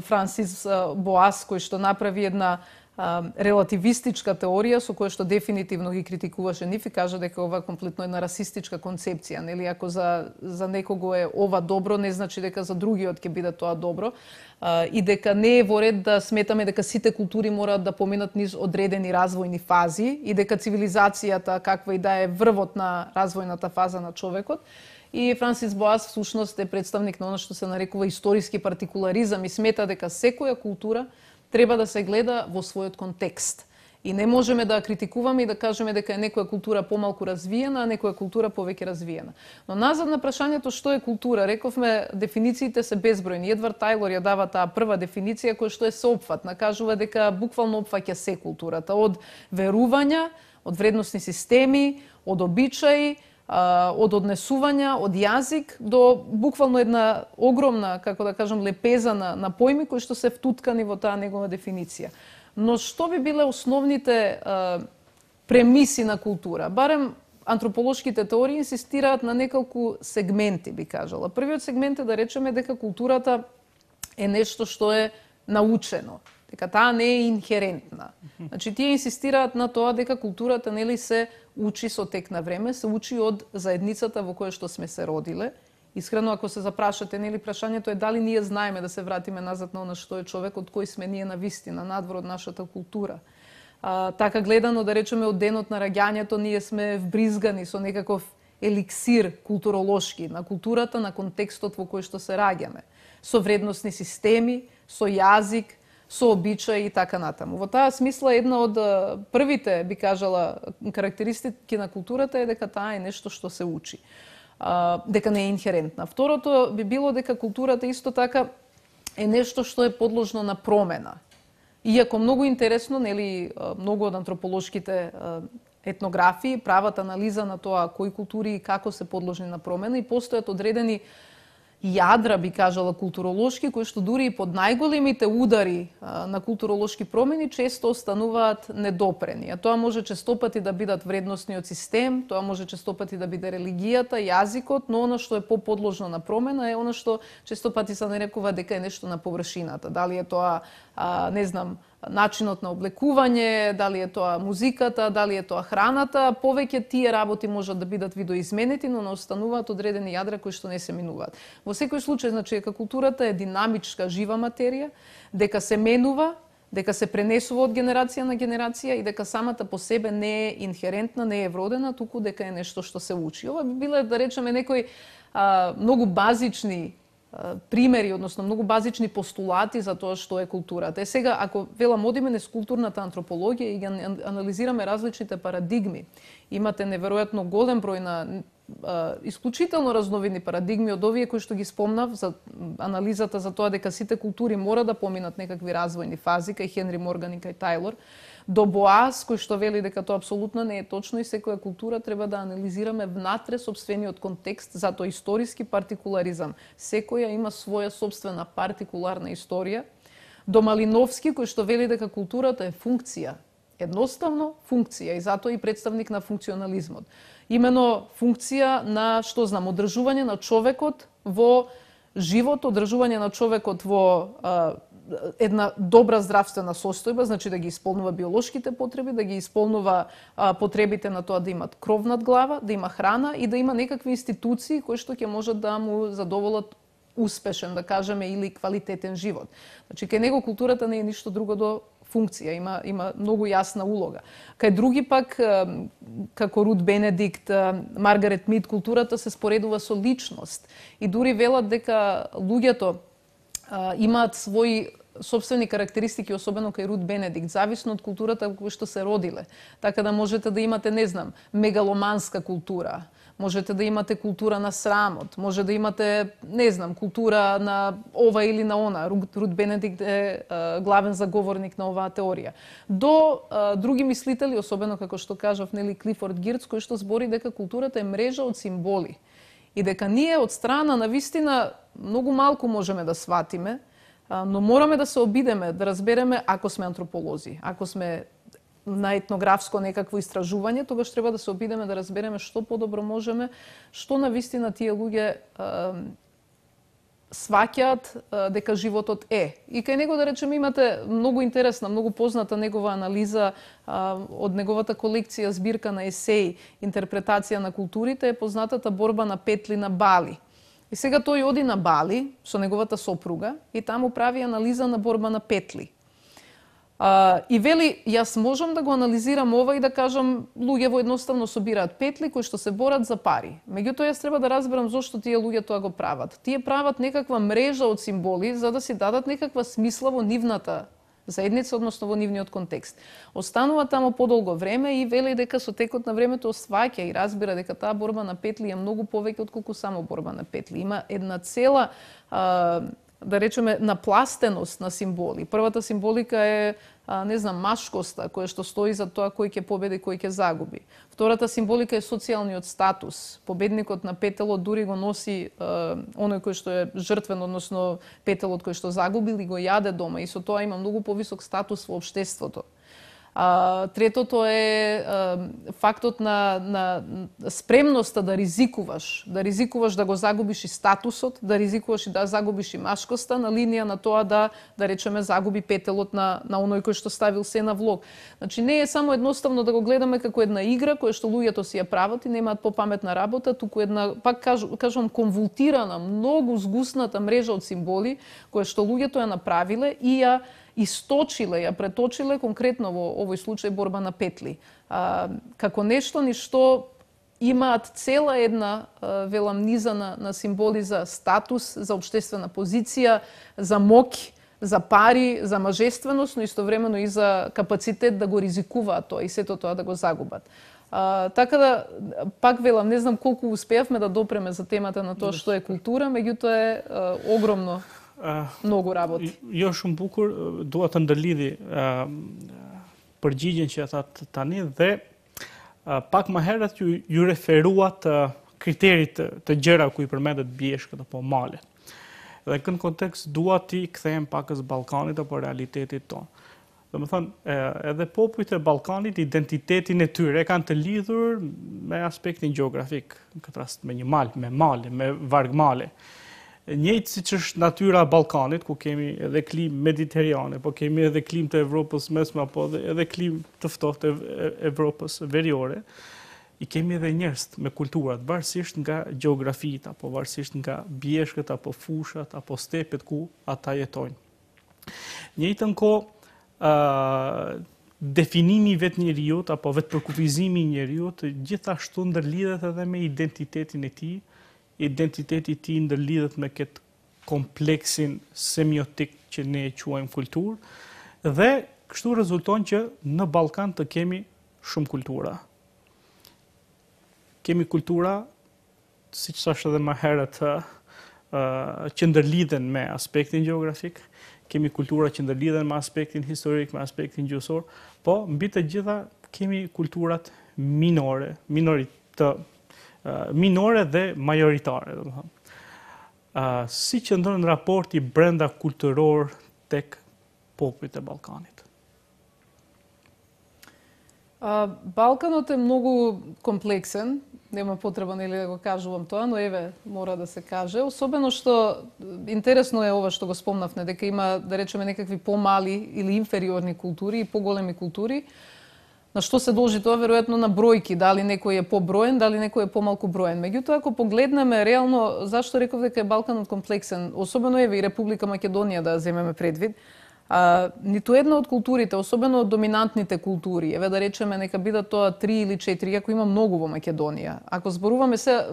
Франсис uh, Боас, кој што направи една релативистичка теорија со која што дефинитивно ги критикуваше нив и кажа дека ова е комплетно една расистичка концепција, нели, ако за за некого е ова добро, не значи дека за другиот ќе биде тоа добро, а, и дека не е во ред да сметаме дека сите култури мораат да поминат низ одредени развојни фази и дека цивилизацијата каква и да е врвот на развојната фаза на човекот. И Франсис Боас всушност е представник на она што се нарекува историски партикуларизам и смета дека секоја култура треба да се гледа во својот контекст. И не можеме да критикуваме и да кажеме дека е некоја култура помалку развиена, а некоја култура повеќе развиена. Но назад на прашањето што е култура, рековме дефинициите се безбројни. Едвард Тајлор ја дава таа прва дефиниција која што е сеопфатна, кажува дека буквално опфаќа се културата, од верувања, од вредносни системи, од обичаи, од однесувања, од јазик до буквално една огромна, како да кажам, лепеза на, на појми кои што се втуткани во таа негова дефиниција. Но што би биле основните а, премиси на култура? Барем антрополошките теории инсистираат на неколку сегменти, би кажала. Првиот сегмент е да речеме дека културата е нешто што е научено, дека таа не е инхерентна. Значи, тие инсистираат на тоа дека културата, нели, се учи со тек на време, се учи од заедницата во која што сме се родиле. Искрено, ако се запрашате, нели, прашањето е дали ние знаеме да се вратиме назад на она што е човек, од кој сме ние на вистина, надвор од нашата култура. А, така гледано, да речеме, од денот на раѓањето, ние сме вбризгани со некаков еликсир културолошки на културата, на контекстот во кој што се раѓаме. Со вредносни системи, со јазик, со обичаи и така натаму. Во таа смисла, една од првите, би кажала, карактеристики на културата е дека таа е нешто што се учи. А, дека не е инхерентна. Второто би било дека културата исто така е нешто што е подложно на промена. Иако многу интересно, нели, многу од антрополошките етнографии прават анализа на тоа кои култури и како се подложни на промена и постојат одредени јадра, би кажала, културолошки, кои што дури и под најголемите удари а, на културолошки промени често остануваат недопрени. А тоа може честопати да бидат вредносниот систем, тоа може честопати да биде религијата, јазикот, но она што е поподложно на промена е она што честопати се нарекува дека е нешто на површината. Дали е тоа, а, не знам, начинот на облекување, дали е тоа музиката, дали е тоа храната, повеќе тие работи можат да бидат видоизменети, но не остануваат одредени јадра кои што не се минуваат. Во секој случај, значи, дека културата е динамичка, жива материја, дека се менува, дека се пренесува од генерација на генерација и дека самата по себе не е инхерентна, не е вродена, туку дека е нешто што се учи. Ова би биле, да речеме, некои а, многу базични примери, односно многу базични постулати за тоа што е културата. Е сега, ако велам одиме низ културната антропологија и ги анализираме различните парадигми, имате неверојатно голем број на а, исклучително разновидни парадигми од овие кои што ги спомнав за анализата за тоа дека сите култури мора да поминат некакви развојни фази, кај Хенри Морган и кај Тајлор, до Боас, кој што вели дека тоа апсолутно не е точно и секоја култура треба да анализираме внатре сопствениот контекст, затоа историски партикуларизам. Секоја има своја сопствена партикуларна историја. До Малиновски, кој што вели дека културата е функција, едноставно функција и затоа и представник на функционализмот. Имено функција на, што знам, одржување на човекот во живот, одржување на човекот во а, една добра здравствена состојба, значи да ги исполнува биолошките потреби, да ги исполнува а, потребите на тоа да имат кров над глава, да има храна и да има некакви институции кои што ќе можат да му задоволат успешен, да кажеме, или квалитетен живот. Значи, кај него културата не е ништо друго до функција, има, има многу јасна улога. Кај други пак, како Рут Бенедикт, Маргарет Мид, културата се споредува со личност и дури велат дека луѓето имаат своји собствени карактеристики, особено кај Рут Бенедикт, зависно од културата во која што се родиле. Така да можете да имате, не знам, мегаломанска култура, можете да имате култура на срамот, може да имате, не знам, култура на ова или на она. Рут Бенедикт е а, главен заговорник на оваа теорија. До а, други мислители, особено како што кажав, нели, Клифорд Гирц, кој што збори дека културата е мрежа од символи и дека ние од страна на вистина многу малку можеме да сватиме, но мораме да се обидеме, да разбереме ако сме антрополози, ако сме на етнографско некакво истражување, тогаш треба да се обидеме да разбереме што подобро можеме, што на вистина тие луѓе сваќаат дека животот е. И кај него, да речеме, имате многу интересна, многу позната негова анализа од неговата колекција збирка на есеи, интерпретација на културите, е познатата борба на петли на Бали. И сега тој оди на Бали со неговата сопруга и таму прави анализа на борба на петли. Uh, и вели, јас можам да го анализирам ова и да кажам, луѓе едноставно собираат петли кои што се борат за пари. Меѓутоа, јас треба да разберам зошто тие луѓе тоа го прават. Тие прават некаква мрежа од символи за да си дадат некаква смисла во нивната заедница, односно во нивниот контекст. Останува таму подолго време и вели дека со текот на времето сваќа и разбира дека таа борба на петли е многу повеќе отколку само борба на петли. Има една цела uh, да речеме, напластеност на символи. Првата символика е, а, не знам, машкоста, која што стои за тоа кој ќе победи, кој ќе загуби. Втората символика е социјалниот статус. Победникот на петелот дури го носи а, оној кој што е жртвен, односно петелот кој што загубил и го јаде дома. И со тоа има многу повисок статус во општеството. А, третото е а, фактот на, на спремноста да ризикуваш, да ризикуваш да го загубиш и статусот, да ризикуваш и да загубиш и машкоста на линија на тоа да, да речеме, загуби петелот на, на оној кој што ставил се на влог. Значи не е само едноставно да го гледаме како една игра која што луѓето си ја прават и немаат попаметна работа, туку една, пак кажу, кажувам, конвултирана, многу згусната мрежа од символи која што луѓето ја направиле и ја источиле, ја преточиле конкретно во овој случај борба на петли. А, како нешто ни што имаат цела една а, велам низа на, на символи за статус, за општествена позиција, за моќ, за пари, за мажественост, но истовремено и за капацитет да го ризикуваат тоа и сето тоа да го загубат. А, така да, пак велам, не знам колку успеавме да допреме за темата на тоа што е култура, меѓутоа е а, огромно. Uh, многу работи. Jo shumë bukur, dua të ndërlidhi uh, përgjigjen që thatë tani dhe uh, pak më herët ju, ju referuat uh, kriterit të, të gjëra ku i përmendet bjeshkët apo malet. Dhe kënë kontekst dua ti kthehem pakës Ballkanit apo realitetit tonë. Dhe më thënë, edhe popujt e Ballkanit, identitetin e tyre kanë të lidhur me aspektin gjeografik, në këtë rast me një mal, me male, me vargmale. Njëjtë siç është natyra e Ballkanit, ku kemi edhe klim mediterane, po kemi edhe klim të Evropës mesme, apo edhe klim të ftohtë të Evropës veriore, i kemi edhe njerëz me kulturat, varësisht nga gjeografitë, apo varësisht nga bjeshkët, apo fushat, apo stepet ku ata jetojnë. Njëjtën kohë, uh, definimi i vetë njeriut, apo vetë përkufizimi i njeriut, gjithashtu ndërlidhet edhe me identitetin e tij. Identiteti i tij ndërlidhet me këtë kompleksin semiotik që ne e quajmë kulturë dhe kështu rezulton që në Ballkan të kemi shumë kultura. Kemi kultura, siç thash edhe më herët, që ndërlidhen me aspektin gjeografik, kemi kultura që ndërlidhen me aspektin historik, me aspektin gjuhësor, po mbi të gjitha kemi kulturat minore, minoritë minore dhe majoritare. Uh, si që ndërën raporti brenda kulturor tek popujt e Ballkanit? Uh, Балканот е многу комплексен, нема потреба нели да го кажувам тоа, но еве мора да се каже, особено што интересно е ова што го спомнавме, дека има, да речеме, некакви помали или инфериорни култури и поголеми култури. На што се должи тоа? Веројатно на бројки, дали некој е поброен, дали некој е помалку броен. Меѓутоа, ако погледнеме реално, зашто реков дека е Балканот комплексен, особено еве и Република Македонија да земеме предвид, а, ниту една од културите, особено од доминантните култури, еве да речеме нека бидат тоа три или четири, ако има многу во Македонија. Ако зборуваме се,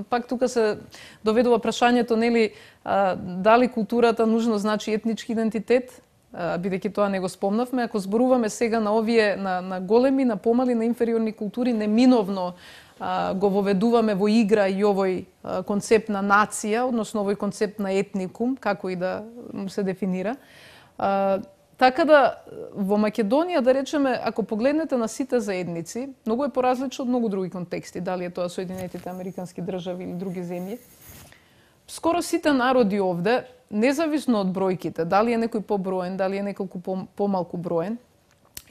пак тука се доведува прашањето, нели, а, дали културата нужно значи етнички идентитет, бидејќи тоа не го спомнавме. Ако зборуваме сега на овие, на, на големи, на помали, на инфериорни култури, неминовно а, го воведуваме во игра и овој а, концепт на нација, односно овој концепт на етникум, како и да му се дефинира. А, така да, во Македонија, да речеме, ако погледнете на сите заедници, многу е поразлично од многу други контексти, дали е тоа Соединетите Американски држави или други земји. Скоро сите народи овде, независно од бројките, дали е некој поброен, дали е неколку помалку броен,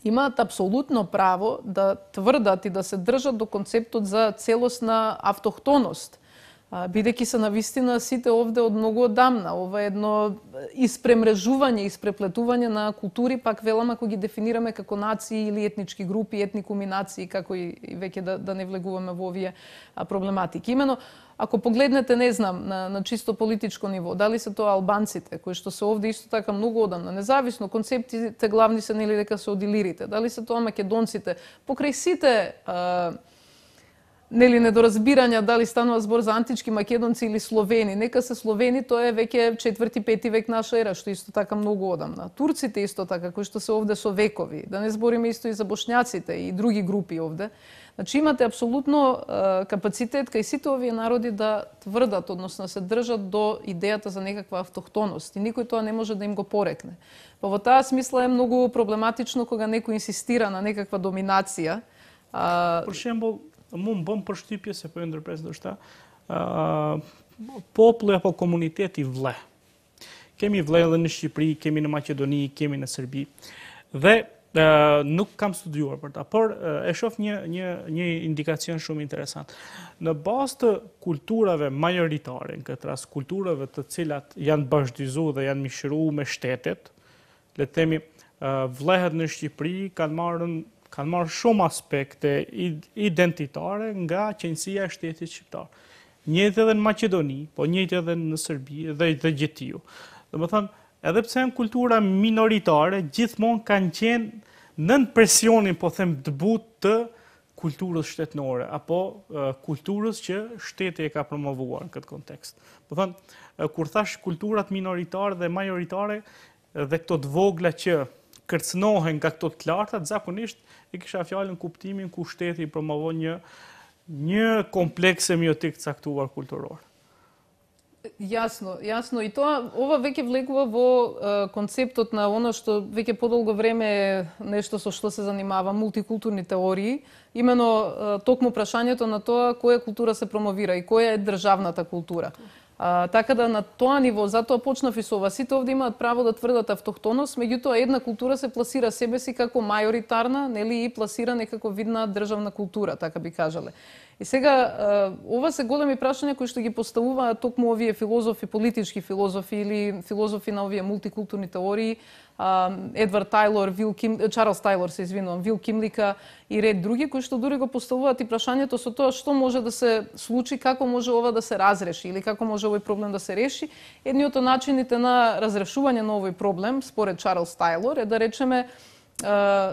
имаат апсолутно право да тврдат и да се држат до концептот за целосна автохтоност бидејќи се навистина сите овде од многу одамна. Ова е едно испремрежување, испреплетување на култури, пак велам ако ги дефинираме како нации или етнички групи, етникуми нации, како и, и веќе да, да не влегуваме во овие проблематики. Имено, ако погледнете, не знам, на, на чисто политичко ниво, дали се тоа албанците, кои што се овде исто така многу одамна, независно, концептите главни се нели дека се од илирите, дали се тоа македонците, покрај сите а, нели недоразбирања дали станува збор за антички македонци или словени. Нека се словени, тоа е веќе четврти, пети век наша ера, што исто така многу одамна. Турците исто така, кои што се овде со векови. Да не збориме исто и за бошњаците и други групи овде. Значи имате апсолутно е, капацитет кај сите овие народи да тврдат, односно се држат до идејата за некаква автохтоност и никој тоа не може да им го порекне. Па во таа смисла е многу проблематично кога некој инсистира на некаква доминација. А... Por exemplo, mund bëm përshtypje se po e ndërpres ndoshta, uh, populli apo komuniteti vle. Kemi vle edhe në Shqipëri, kemi në Maqedoni, kemi në Serbi. Dhe Uh, nuk kam studiuar për ta, por uh, e shoh një një një indikacion shumë interesant. Në bazë të kulturave majoritare, në këtë rast kulturave të cilat janë bashkëdhëzuar dhe janë mishëruar me shtetet, le të themi, uh, vlehët në Shqipëri kanë marrën kanë marrë shumë aspekte identitare nga qenësia e shtetit shqiptar. Njëjtë edhe në Maqedoni, po njëjtë edhe në Serbi dhe dhe gjithë. Domethënë, edhe pse janë kultura minoritare, gjithmonë kanë qenë nën presionin, po them, të butë të kulturës shtetënore, apo uh, kulturës që shteti e ka promovuar në këtë kontekst. Po them, uh, kur thash kulturat minoritare dhe majoritare, dhe këto të vogla që kërcënohen nga këto të larta, zakonisht e kisha fjalën kuptimin ku shteti promovon një një kompleks semiotik caktuar kulturor. Јасно, јасно. И тоа, ова веќе влегува во е, концептот на оно што веќе подолго време е нешто со што се занимава, мултикултурни теории, имено е, токму прашањето на тоа која култура се промовира и која е државната култура. А, така да на тоа ниво, затоа почнав и со ова, сите овде имаат право да тврдат автохтоност, меѓутоа една култура се пласира себе си како мајоритарна, нели, и пласира некако видна државна култура, така би кажале. И сега, ова се големи прашања кои што ги поставуваат токму овие филозофи, политички филозофи или филозофи на овие мултикултурни теории, Едвард Тајлор, Вил Ким, Чарлс Тајлор, се извинувам, Вил Кимлика и ред други, кои што дури го поставуваат и прашањето со тоа што може да се случи, како може ова да се разреши или како може овој проблем да се реши. Едниот од начините на разрешување на овој проблем, според Чарлс Тајлор, е да речеме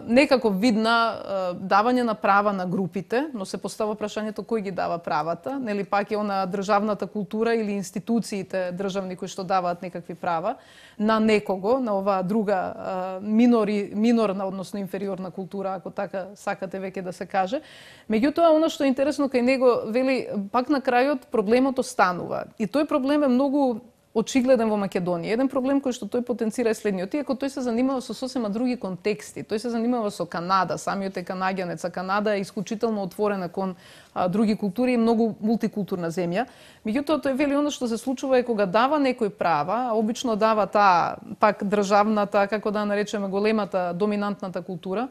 некако видна давање на права на групите, но се постава прашањето кој ги дава правата, нели пак е она државната култура или институциите државни кои што даваат некакви права на некого, на оваа друга минори, минорна, односно инфериорна култура, ако така сакате веќе да се каже. Меѓутоа, оно што е интересно кај него, вели, пак на крајот проблемот останува. И тој проблем е многу очигледен во Македонија. Еден проблем кој што тој потенцира е следниот, иако тој се занимава со сосема други контексти. Тој се занимава со Канада, самиот е канаѓанец, а Канада е исклучително отворена кон а, други култури и многу мултикултурна земја. Меѓутоа тој вели оно што се случува е кога дава некој права, а обично дава таа пак државната, како да наречеме големата доминантната култура.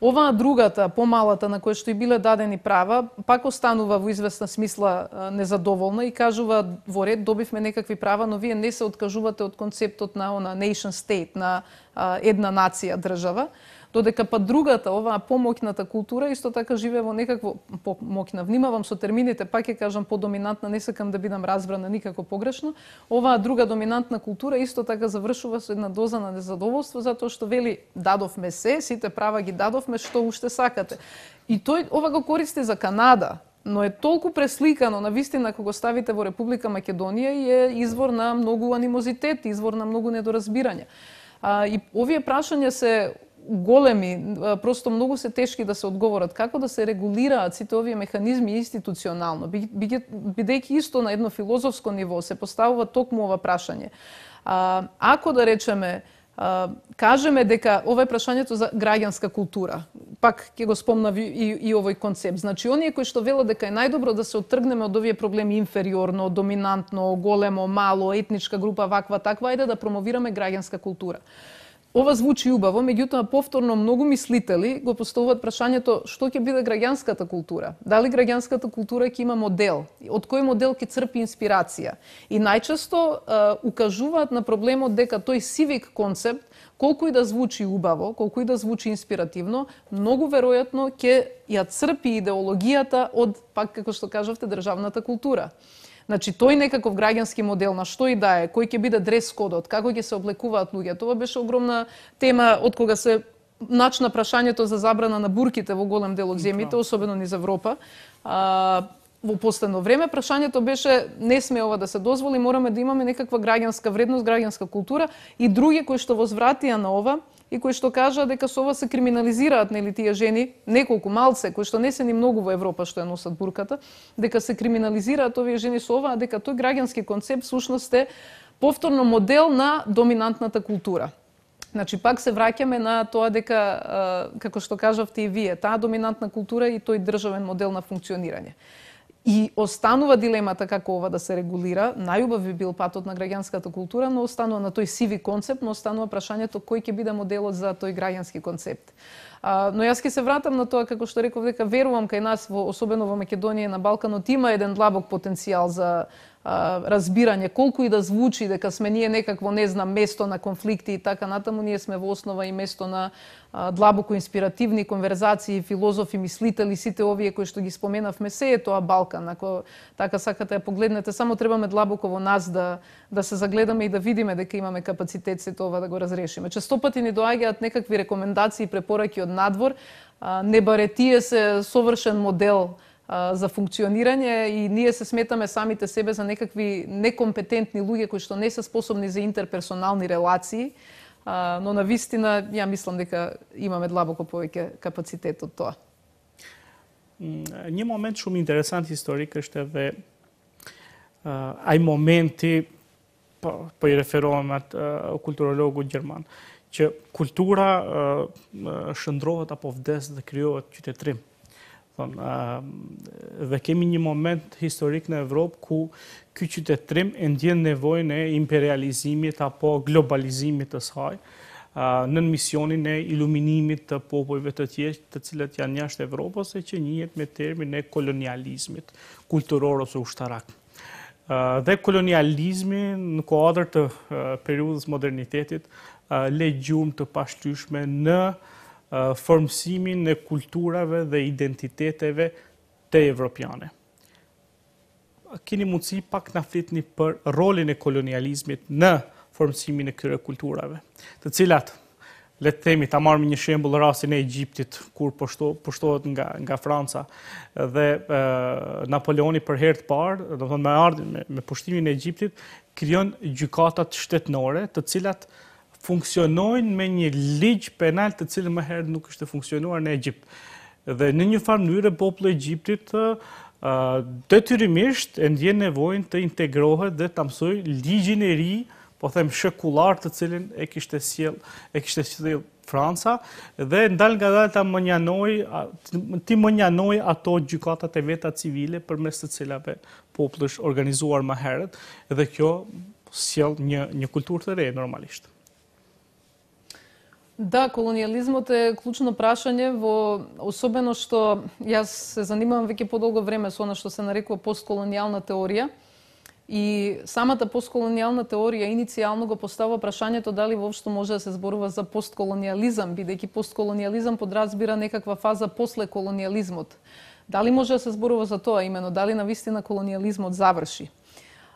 Оваа другата, помалата, на која што и биле дадени права, пак останува во известна смисла незадоволна и кажува во ред добивме некакви права, но вие не се откажувате од концептот на она nation state, на а, една нација, држава, додека па другата, оваа помоќната култура исто така живее во некакво помоќна. Внимавам со термините, пак ќе кажам подоминантна, не сакам да бидам разбрана никако погрешно. Оваа друга доминантна култура исто така завршува со една доза на незадоволство затоа што вели дадовме се, сите права ги дадовме, што уште сакате. И тој ова го користи за Канада, но е толку пресликано на вистина кога го ставите во Република Македонија и е извор на многу анимозитет, извор на многу недоразбирање. А, и овие прашања се големи, просто многу се тешки да се одговорат. Како да се регулираат сите овие механизми институционално, бидејќи исто на едно филозофско ниво се поставува токму ова прашање. А, ако да речеме, а, кажеме дека ова е прашањето за граѓанска култура, пак ќе го спомнав и, и, и овој концепт. Значи, оние кои што велат дека е најдобро да се оттргнеме од овие проблеми инфериорно, доминантно, големо, мало, етничка група, ваква, таква, ајде да промовираме граѓанска култура. ова звучи убаво, меѓутоа повторно многу мислители го поставуваат прашањето што ќе биде граѓанската култура. Дали граѓанската култура ќе има модел? Од кој модел ќе црпи инспирација? И најчесто е, укажуваат на проблемот дека тој сивик концепт, колку и да звучи убаво, колку и да звучи инспиративно, многу веројатно ќе ја црпи идеологијата од, пак како што кажавте, државната култура. Значи, тој некаков граѓански модел на што и да е, кој ќе биде дрес-кодот, како ќе се облекуваат луѓе. Тоа беше огромна тема од кога се начна прашањето за забрана на бурките во голем дел од земјите, особено низ Европа. А, во последно време прашањето беше не сме ова да се дозволи, мораме да имаме некаква граѓанска вредност, граѓанска култура и други кои што возвратија на ова и кои што кажа дека со ова се криминализираат нели тие жени, неколку малце кои што не се ни многу во Европа што ја носат бурката, дека се криминализираат овие жени со ова, а дека тој граѓански концепт всушност е повторно модел на доминантната култура. Значи пак се враќаме на тоа дека како што кажавте и вие, таа доминантна култура и тој државен модел на функционирање. И останува дилемата како ова да се регулира. Најубав би бил патот на граѓанската култура, но останува на тој сиви концепт, но останува прашањето кој ќе биде моделот за тој граѓански концепт. А, но јас ќе се вратам на тоа како што реков дека верувам кај нас, во, особено во Македонија и на Балканот, има еден длабок потенцијал за а, разбирање, колку и да звучи дека сме ние некакво, не знам, место на конфликти и така натаму, ние сме во основа и место на а, длабоко инспиративни конверзации, филозофи, мислители, сите овие кои што ги споменавме, се е тоа Балкан. Ако така сакате ја погледнете, само требаме длабоко во нас да да се загледаме и да видиме дека имаме капацитет сето ова да го разрешиме. Често пати ни доаѓаат некакви рекомендации и препораки од надвор, а, не баре тие се совршен модел за функционирање и ние се сметаме самите себе за некакви некомпетентни луѓе кои што не се способни за интерперсонални релации, но на вистина ја мислам дека имаме длабоко повеќе капацитет од тоа. Një moment shumë interesant historik është edhe uh, ai momenti, po, po i referohem atë uh, kulturologut gjerman, që kultura uh, shndrohet apo vdes dhe krijohet qytetërim. Dhe kemi një moment historik në Evropë ku ky qytetërim e ndjen nevojën e imperializimit apo globalizimit të saj në misionin e iluminimit të popujve të tjerë të cilët janë jashtë Evropës e që njihet me termin e kolonializmit kulturor ose ushtarak. Dhe kolonializmi në kuadër të periudhës modernitetit le gjumë të pashtyshme në formësimin e kulturave dhe identiteteve të evropiane. Keni mundësi pak na flitni për rolin e kolonializmit në formësimin e këtyre kulturave, të cilat, le të themi, ta marrim një shembull rastin e Egjiptit, kur pushtohet nga nga Franca dhe e, Napoleoni për herë të parë, do të thonë me ardhin me, me pushtimin e Egjiptit, krijon gjykatat shtetënore, të cilat funksionojnë me një ligj penal të cilën më herët nuk ishte funksionuar në Egjipt. Dhe në një farë mënyrë populli i Egjiptit detyrimisht e ndjen nevojën të integrohet dhe ta mësojë ligjin e ri, po them shekullar, të cilin e kishte sjell e kishte sjell Franca dhe ndal nga dal ta mënjanoi ti mënjanoi ato gjykatat e veta civile përmes të cilave populli është organizuar më herët dhe kjo sjell një një kulturë të re normalisht. Да, колониализмот е клучно прашање, во особено што јас се занимавам веќе подолго време со она што се нарекува постколонијална теорија. И самата постколонијална теорија иницијално го поставува прашањето дали воопшто може да се зборува за постколонијализам, бидејќи постколонијализам подразбира некаква фаза после колонијализмот. Дали може да се зборува за тоа именно, дали навистина колонијализмот заврши?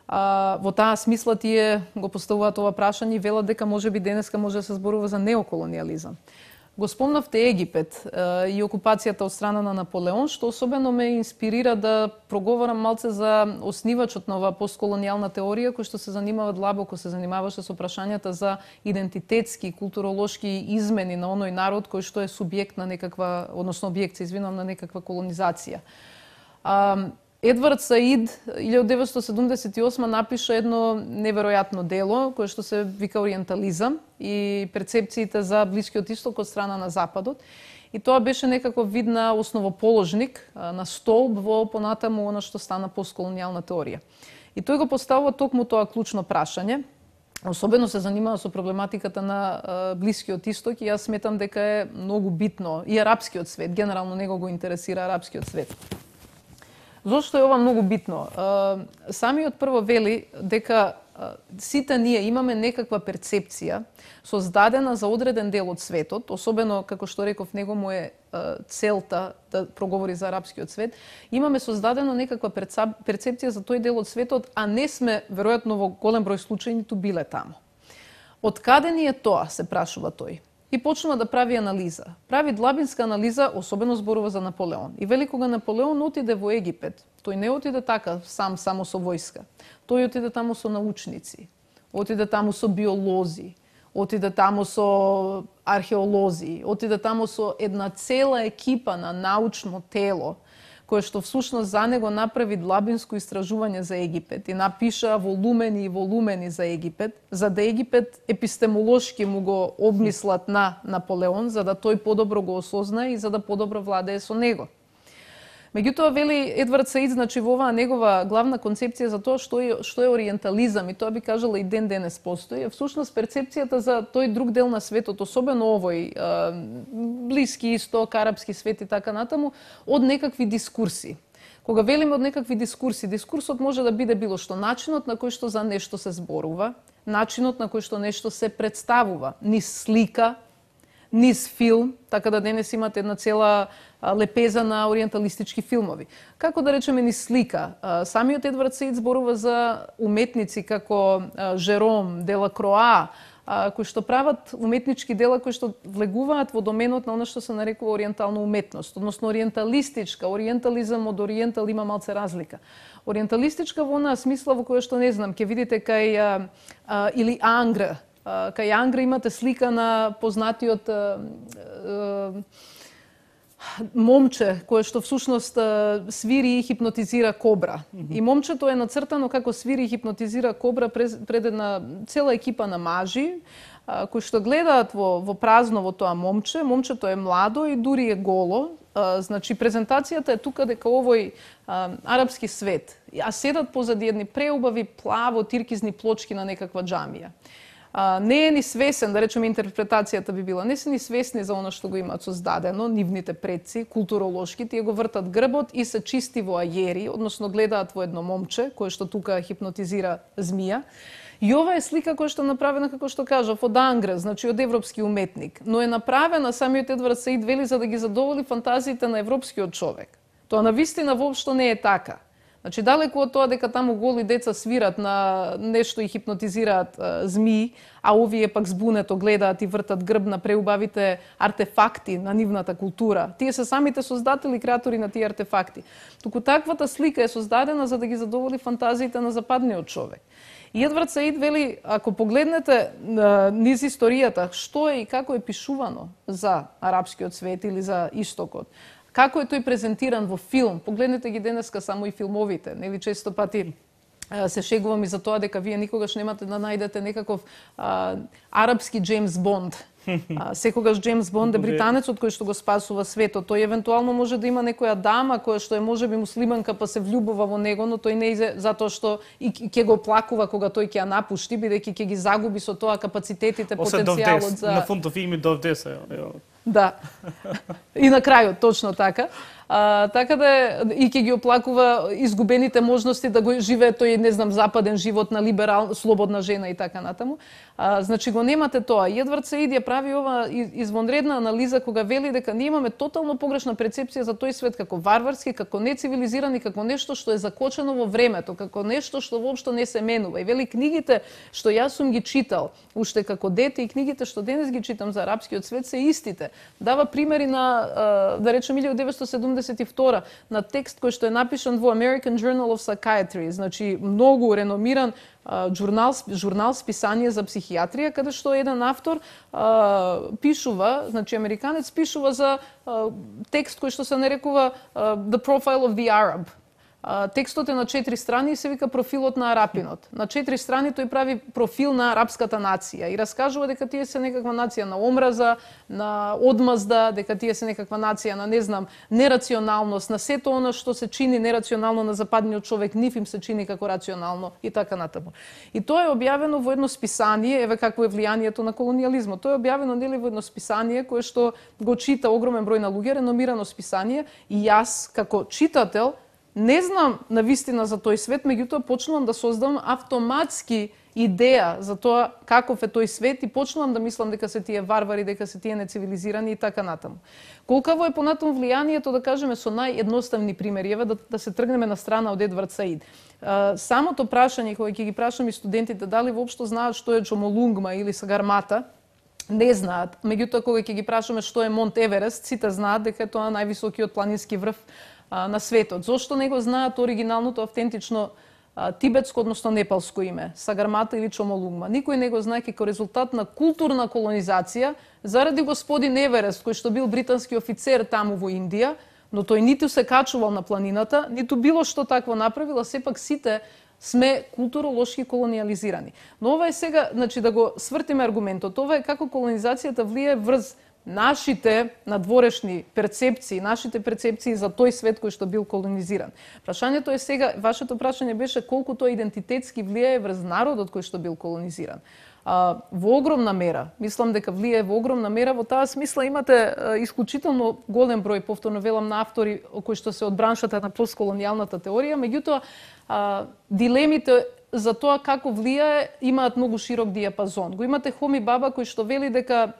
А, во таа смисла тие го поставуваат ова прашање и велат дека можеби денеска може да се зборува за неоколонијализам. Го спомнавте Египет а, и окупацијата од страна на Наполеон, што особено ме инспирира да проговорам малце за оснивачот на оваа постколонијална теорија, кој што се занимава длабоко, се занимаваше со прашањата за идентитетски, културолошки измени на оној народ кој што е субјект на некаква, односно објект, се извинувам, на некаква колонизација. А, Едвард Саид илјадесет деветстотини седумдесет и осма напиша едно неверојатно дело кое што се вика Ориентализам и перцепциите за Блискиот Исток од страна на Западот. И тоа беше некаков вид на основоположник, на столб во понатаму она што стана постколонијална теорија. И тој го поставува токму тоа клучно прашање. особено се занимава со проблематиката на а, Блискиот Исток и јас сметам дека е многу битно и арапскиот свет, генерално него го интересира арапскиот свет. Зошто е ова многу битно? А, самиот прво вели дека а, сите ние имаме некаква перцепција создадена за одреден дел од светот, особено како што реков него му е а, целта да проговори за арапскиот свет, имаме создадено некаква перцепција за тој дел од светот, а не сме веројатно во голем број случаи ниту биле таму. Од каде ни е тоа, се прашува тој. И почнува да прави анализа. Прави длабинска анализа, особено зборува за Наполеон. И вели кога Наполеон отиде во Египет, тој не отиде така сам, само со војска. Тој отиде таму со научници, отиде таму со биолози, отиде таму со археолози, отиде таму со една цела екипа на научно тело, кое што всушност за него направи длабинско истражување за Египет и напиша волумени и волумени за Египет, за да Египет епистемолошки му го обмислат на Наполеон, за да тој подобро го осознае и за да подобро владее со него. Меѓутоа, вели Едвард Саид, значи во оваа негова главна концепција за тоа што е, што е ориентализам, и тоа би кажала и ден денес постои, е всушност перцепцијата за тој друг дел на светот, особено овој Блиски Исток, арапски свет и така натаму, од некакви дискурси. Кога велиме од некакви дискурси, дискурсот може да биде било што начинот на кој што за нешто се зборува, начинот на кој што нешто се представува, низ слика, низ филм, така да денес имате една цела лепеза на ориенталистички филмови. Како да речеме низ слика, самиот Едвард Саид зборува за уметници како Жером, Делакроа, кои што прават уметнички дела кои што влегуваат во доменот на она што се нарекува ориентална уметност, односно ориенталистичка. Ориентализам од ориентал има малце разлика. Ориенталистичка во онаа смисла во која што не знам, ќе видите кај а, а, или Ангра. Кај Ангра имате слика на познатиот а, а, момче кое што всушност свири и хипнотизира кобра. И момчето е нацртано како свири и хипнотизира кобра пред една цела екипа на мажи кои што гледаат во, во празно во тоа момче. Момчето е младо и дури е голо. Значи презентацијата е тука дека овој а, арапски свет, а седат позади едни преубави плаво тиркизни плочки на некаква џамија. А, не е ни свесен, да речеме интерпретацијата би била, не се ни свесни за оно што го имаат создадено, нивните предци, културолошки, тие го вртат грбот и се чисти во ајери, односно гледаат во едно момче, кое што тука хипнотизира змија. И ова е слика која што е направена, како што кажав, од Ангра, значи од европски уметник, но е направена, самиот Едвард Саид вели, за да ги задоволи фантазиите на европскиот човек. Тоа навистина воопшто не е така. Значи, далеку од тоа дека таму голи деца свират на нешто и хипнотизираат а, змии, а овие пак збунето гледаат и вртат грб на преубавите артефакти на нивната култура. Тие се самите создатели и креатори на тие артефакти. Туку таквата слика е создадена за да ги задоволи фантазиите на западниот човек. И Едвард Саид вели, ако погледнете а, низ историјата, што е и како е пишувано за арапскиот свет или за Истокот, како е тој презентиран во филм, погледнете ги денеска само и филмовите, нели често пати се шегувам и за тоа дека вие никогаш немате да најдете некаков а, арапски Джеймс Бонд. А, секогаш Джеймс Бонд е британецот кој што го спасува светот. Тој евентуално може да има некоја дама која што е можеби муслиманка па се влюбува во него, но тој не иде затоа што и ќе го плакува кога тој ќе ја напушти, бидејќи ќе ги загуби со тоа капацитетите, потенцијалот за... На фунтов ими довдеса, ја. Да. И на крајот, точно така. А, така да и ќе ги оплакува изгубените можности да го живее тој, не знам, западен живот на либерал, слободна жена и така натаму. А, значи го немате тоа. И Едвард Саид ја прави ова извонредна анализа кога вели дека ние имаме тотално погрешна перцепција за тој свет како варварски, како нецивилизиран и како нешто што е закочено во времето, како нешто што воопшто не се менува. И вели книгите што јас сум ги читал уште како дете и книгите што денес ги читам за арапскиот свет се истите. Дава примери на, да речем, илјадесетте седумдесет и втора на текст кој што е напишан во American Journal of Psychiatry, значи многу реномиран журнал, журнал списание за психијатрија, каде што еден автор а, пишува, значи американец пишува за а, текст кој што се нарекува а, The Profile of the Arab. текстот е на четири страни и се вика профилот на арапинот. На четири страни тој прави профил на арапската нација и раскажува дека тие се некаква нација на омраза, на одмазда, дека тие се некаква нација на, не знам, нерационалност, на сето она што се чини нерационално на западниот човек, нив им се чини како рационално и така натаму. И тоа е објавено во едно списание, еве какво е влијанието на колонијализмот. Тоа е објавено нели во едно списание кое што го чита огромен број на луѓе, реномирано списание, и јас како читател не знам на вистина за тој свет, меѓутоа почнувам да создавам автоматски идеја за тоа каков е тој свет и почнувам да мислам дека се тие варвари, дека се тие нецивилизирани и така натаму. Колкаво е понатаму влијанието, да кажеме со наједноставни примери, еве да, да се тргнеме на страна од Едвард Саид. Самото прашање кога ќе ги прашам и студентите дали воопшто знаат што е Чомолунгма или Сагармата, не знаат. Меѓутоа кога ќе ги прашаме што е Монт Еверест, сите знаат дека е тоа највисокиот планински врв на светот. Зошто не го знаат оригиналното, автентично тибетско, односно непалско име, Сагармата или Чомолунгма? Никој не го знае како резултат на културна колонизација заради господин Еверест, кој што бил британски офицер таму во Индија, но тој ниту се качувал на планината, ниту било што такво направил, а сепак сите сме културолошки колониализирани. Но ова е сега, значи да го свртиме аргументот, ова е како колонизацијата влие врз нашите надворешни перцепции, нашите перцепции за тој свет кој што бил колонизиран. Прашањето е сега, вашето прашање беше колку тоа идентитетски влијае врз народот кој што бил колонизиран. А, во огромна мера, мислам дека влијае во огромна мера, во таа смисла имате а, исклучително голем број, повторно велам, на автори кои што се од браншата на постколонијалната теорија, меѓутоа а, дилемите за тоа како влијае имаат многу широк диапазон. Го имате Хоми Баба кој што вели дека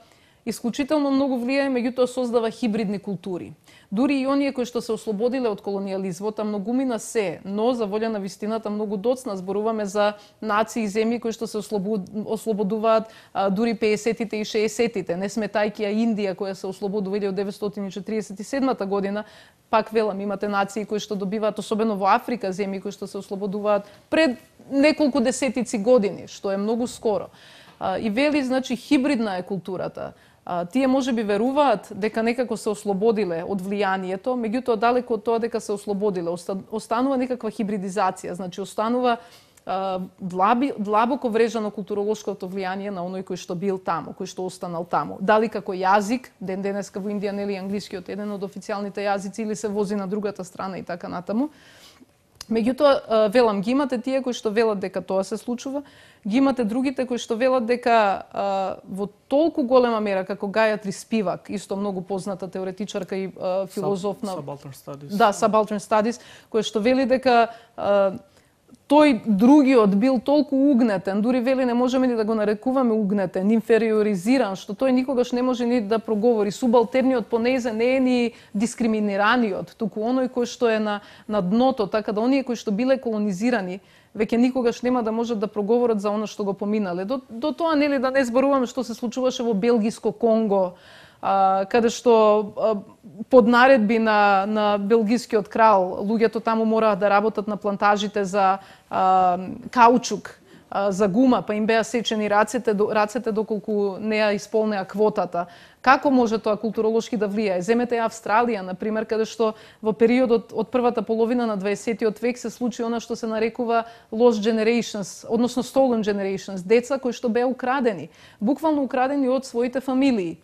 исклучително многу влијае, меѓутоа создава хибридни култури. Дури и оние кои што се ослободиле од колонијализмот, а многумина се, но за волја на вистината многу доцна, зборуваме за нации и земји кои што се ослободуваат а, дури пеесеттите и шеесеттите. Не сметајќи а Индија која се ослободува од деветстотини четириесет и седмата година, пак велам, имате нации кои што добиваат, особено во Африка, земји кои што се ослободуваат пред неколку десетици години, што е многу скоро. А, и вели, значи, хибридна е културата. А, тие може би веруваат дека некако се ослободиле од влијанието, меѓутоа далеко од тоа дека се ослободиле. Останува некаква хибридизација, значи останува а, длаби, длабоко врежано културолошкото влијание на оној кој што бил таму, кој што останал таму. Дали како јазик, ден денеска во Индија нели англискиот еден од официјалните јазици или се вози на другата страна и така натаму. Меѓутоа, велам, ги имате тие кои што велат дека тоа се случува, ги имате другите кои што велат дека а, во толку голема мера како Гајатри Спивак, исто многу позната теоретичарка и а, филозоф на Subaltern Studies. Да, Subaltern Studies, кој што вели дека а, тој другиот бил толку угнетен, дури вели не можеме ни да го нарекуваме угнетен, инфериоризиран, што тој никогаш не може ни да проговори. Субалтерниот понезе не е ни дискриминираниот, туку оној кој што е на, на дното, така да оние кои што биле колонизирани, веќе никогаш нема да можат да проговорат за оно што го поминале. До, до тоа нели да не зборуваме што се случуваше во Белгиско Конго, а, каде што а, под наредби на, на белгискиот крал, луѓето таму мораат да работат на плантажите за а, каучук, а, за гума, па им беа сечени рацете, рацете доколку не ја исполнеа квотата. Како може тоа културолошки да влијае? Земете Австралија, например, каде што во периодот од првата половина на дваесеттиот век се случи она што се нарекува lost generations, односно stolen generations, деца кои што беа украдени, буквално украдени од своите фамилии,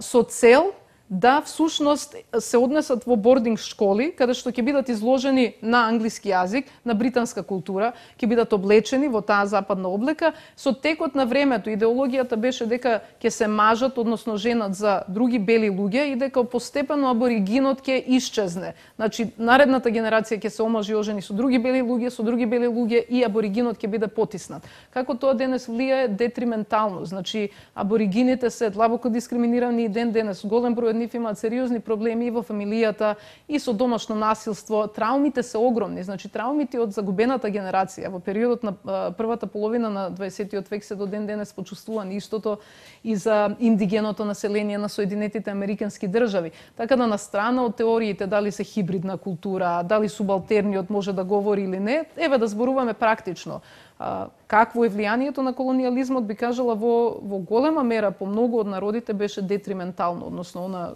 со цел да всушност се однесат во бординг школи, каде што ќе бидат изложени на англиски јазик, на британска култура, ќе бидат облечени во таа западна облека. Со текот на времето идеологијата беше дека ќе се мажат, односно женат за други бели луѓе и дека постепено аборигинот ќе исчезне. Значи, наредната генерација ќе се омажи ожени со други бели луѓе, со други бели луѓе и аборигинот ќе биде потиснат. Како тоа денес влијае детриментално. Значи, аборигините се длабоко дискриминирани и ден денес. Голем број нив имаат сериозни проблеми и во фамилијата, и со домашно насилство. Траумите се огромни. Значи, траумите од загубената генерација во периодот на а, првата половина на дваесеттиот век се до ден денес почувствувани. Истото и за индигеното население на Соединетите Американски држави. Така да, на страна од теориите дали се хибридна култура, дали субалтерниот може да говори или не, еве да зборуваме практично. А, какво е влијанието на колонијализмот, би кажала, во, во голема мера по многу од народите беше детриментално, односно она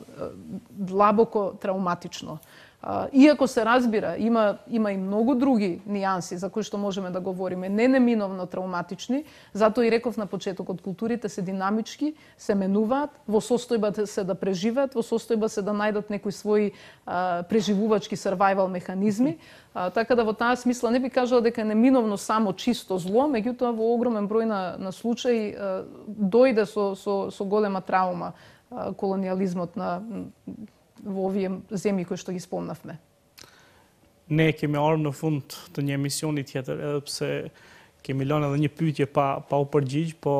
длабоко трауматично. Иако се разбира, има, има и многу други нијанси за кои што можеме да говориме, не неминовно травматични, затоа и реков на почетокот, културите се динамички, се менуваат, во состојба се да преживеат, во состојба се да најдат некои своји а, преживувачки survival механизми, а, така да во таа смисла не би кажала дека е неминовно само чисто зло, меѓутоа во огромен број на, на случаи а, дојде со, со, со голема травма а, колониализмот на во овие земји кои што ги спомнавме. Ne kemi ardhur në fund të një emisioni tjetër, edhe pse kemi lënë edhe një pyetje pa pa u përgjigj, po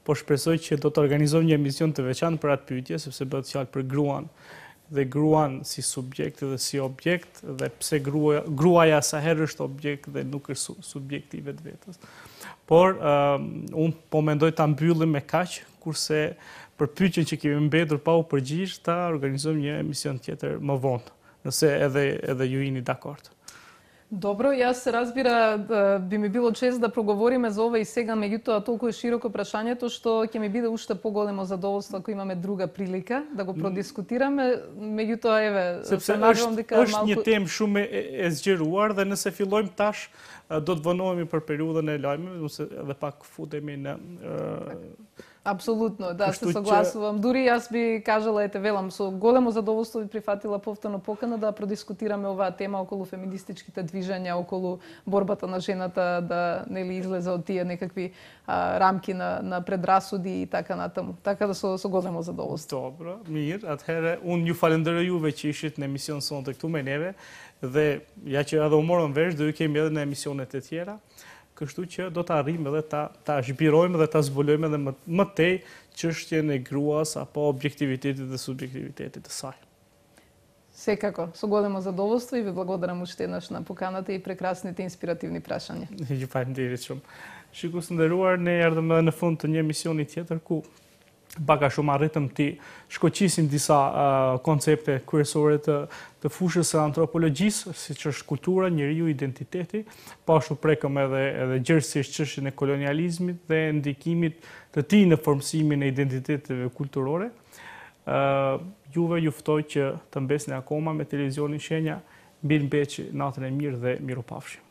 po shpresoj që do të organizojmë një emision të veçantë për atë pyetje, sepse bëhet fjalë për gruan dhe gruan si subjekt dhe si objekt, dhe pse gruaja, gruaja sa herë është objekt dhe nuk është su, subjekti i vetvetes. Por uh, unë po mendoj ta mbyllim me kaq, kurse për pyetjen që kemi mbetur pa u përgjigj, ta organizojmë një emision tjetër më vonë, nëse edhe edhe ju jeni dakord. Добро, јас се разбира, би ми било чест да проговориме за ова и сега, меѓутоа толку е широко прашањето што ќе ми биде уште поголемо задоволство ако имаме друга прилика да го продискутираме, меѓутоа еве се надевам дека малку është një temë shumë e, e zgjeruar dhe nëse fillojmë tash do të vonohemi për periudhën e lajmeve, ose edhe pak futemi në uh, Апсолутно, да, се согласувам. Дури јас би кажала, ете велам, со големо задоволство би прифатила повторно покана да продискутираме оваа тема околу феминистичките движења, околу борбата на жената да нели излезе од тие некакви а, рамки на на предрасуди и така натаму. Така да со со големо задоволство. Добро, mirë. Atëherë unë ju falenderoj juve që ishit në emision sonte këtu me neve dhe ja që edhe u morëm vesh, do ju kemi edhe në emisionet e tjera. Kështu që do të arrijmë edhe ta, ta zhbirojmë dhe ta zbulojmë edhe më, më tej çështjen e gruas apo objektivitetit dhe subjektivitetit të saj. Секако, со големо задоволство и ви благодарам уште еднаш на поканата и прекрасните инспиративни прашања. Ju faleminderit shumë. Shikues të nderuar, ne erdhëm edhe në fund të një emisioni tjetër ku baka shumë arritëm të shkoqisim disa uh, koncepte kryesore të, të fushës së antropologjisë, siç është kultura, njeriu, identiteti, po ashtu prekëm edhe edhe gjerësisht çështjen e kolonializmit dhe ndikimit të tij në formësimin e identiteteve kulturore. Uh, juve ju ftoj që të mbesni akoma me televizionin Shenja, mirë mbeqi, natën e mirë dhe mirupafshim.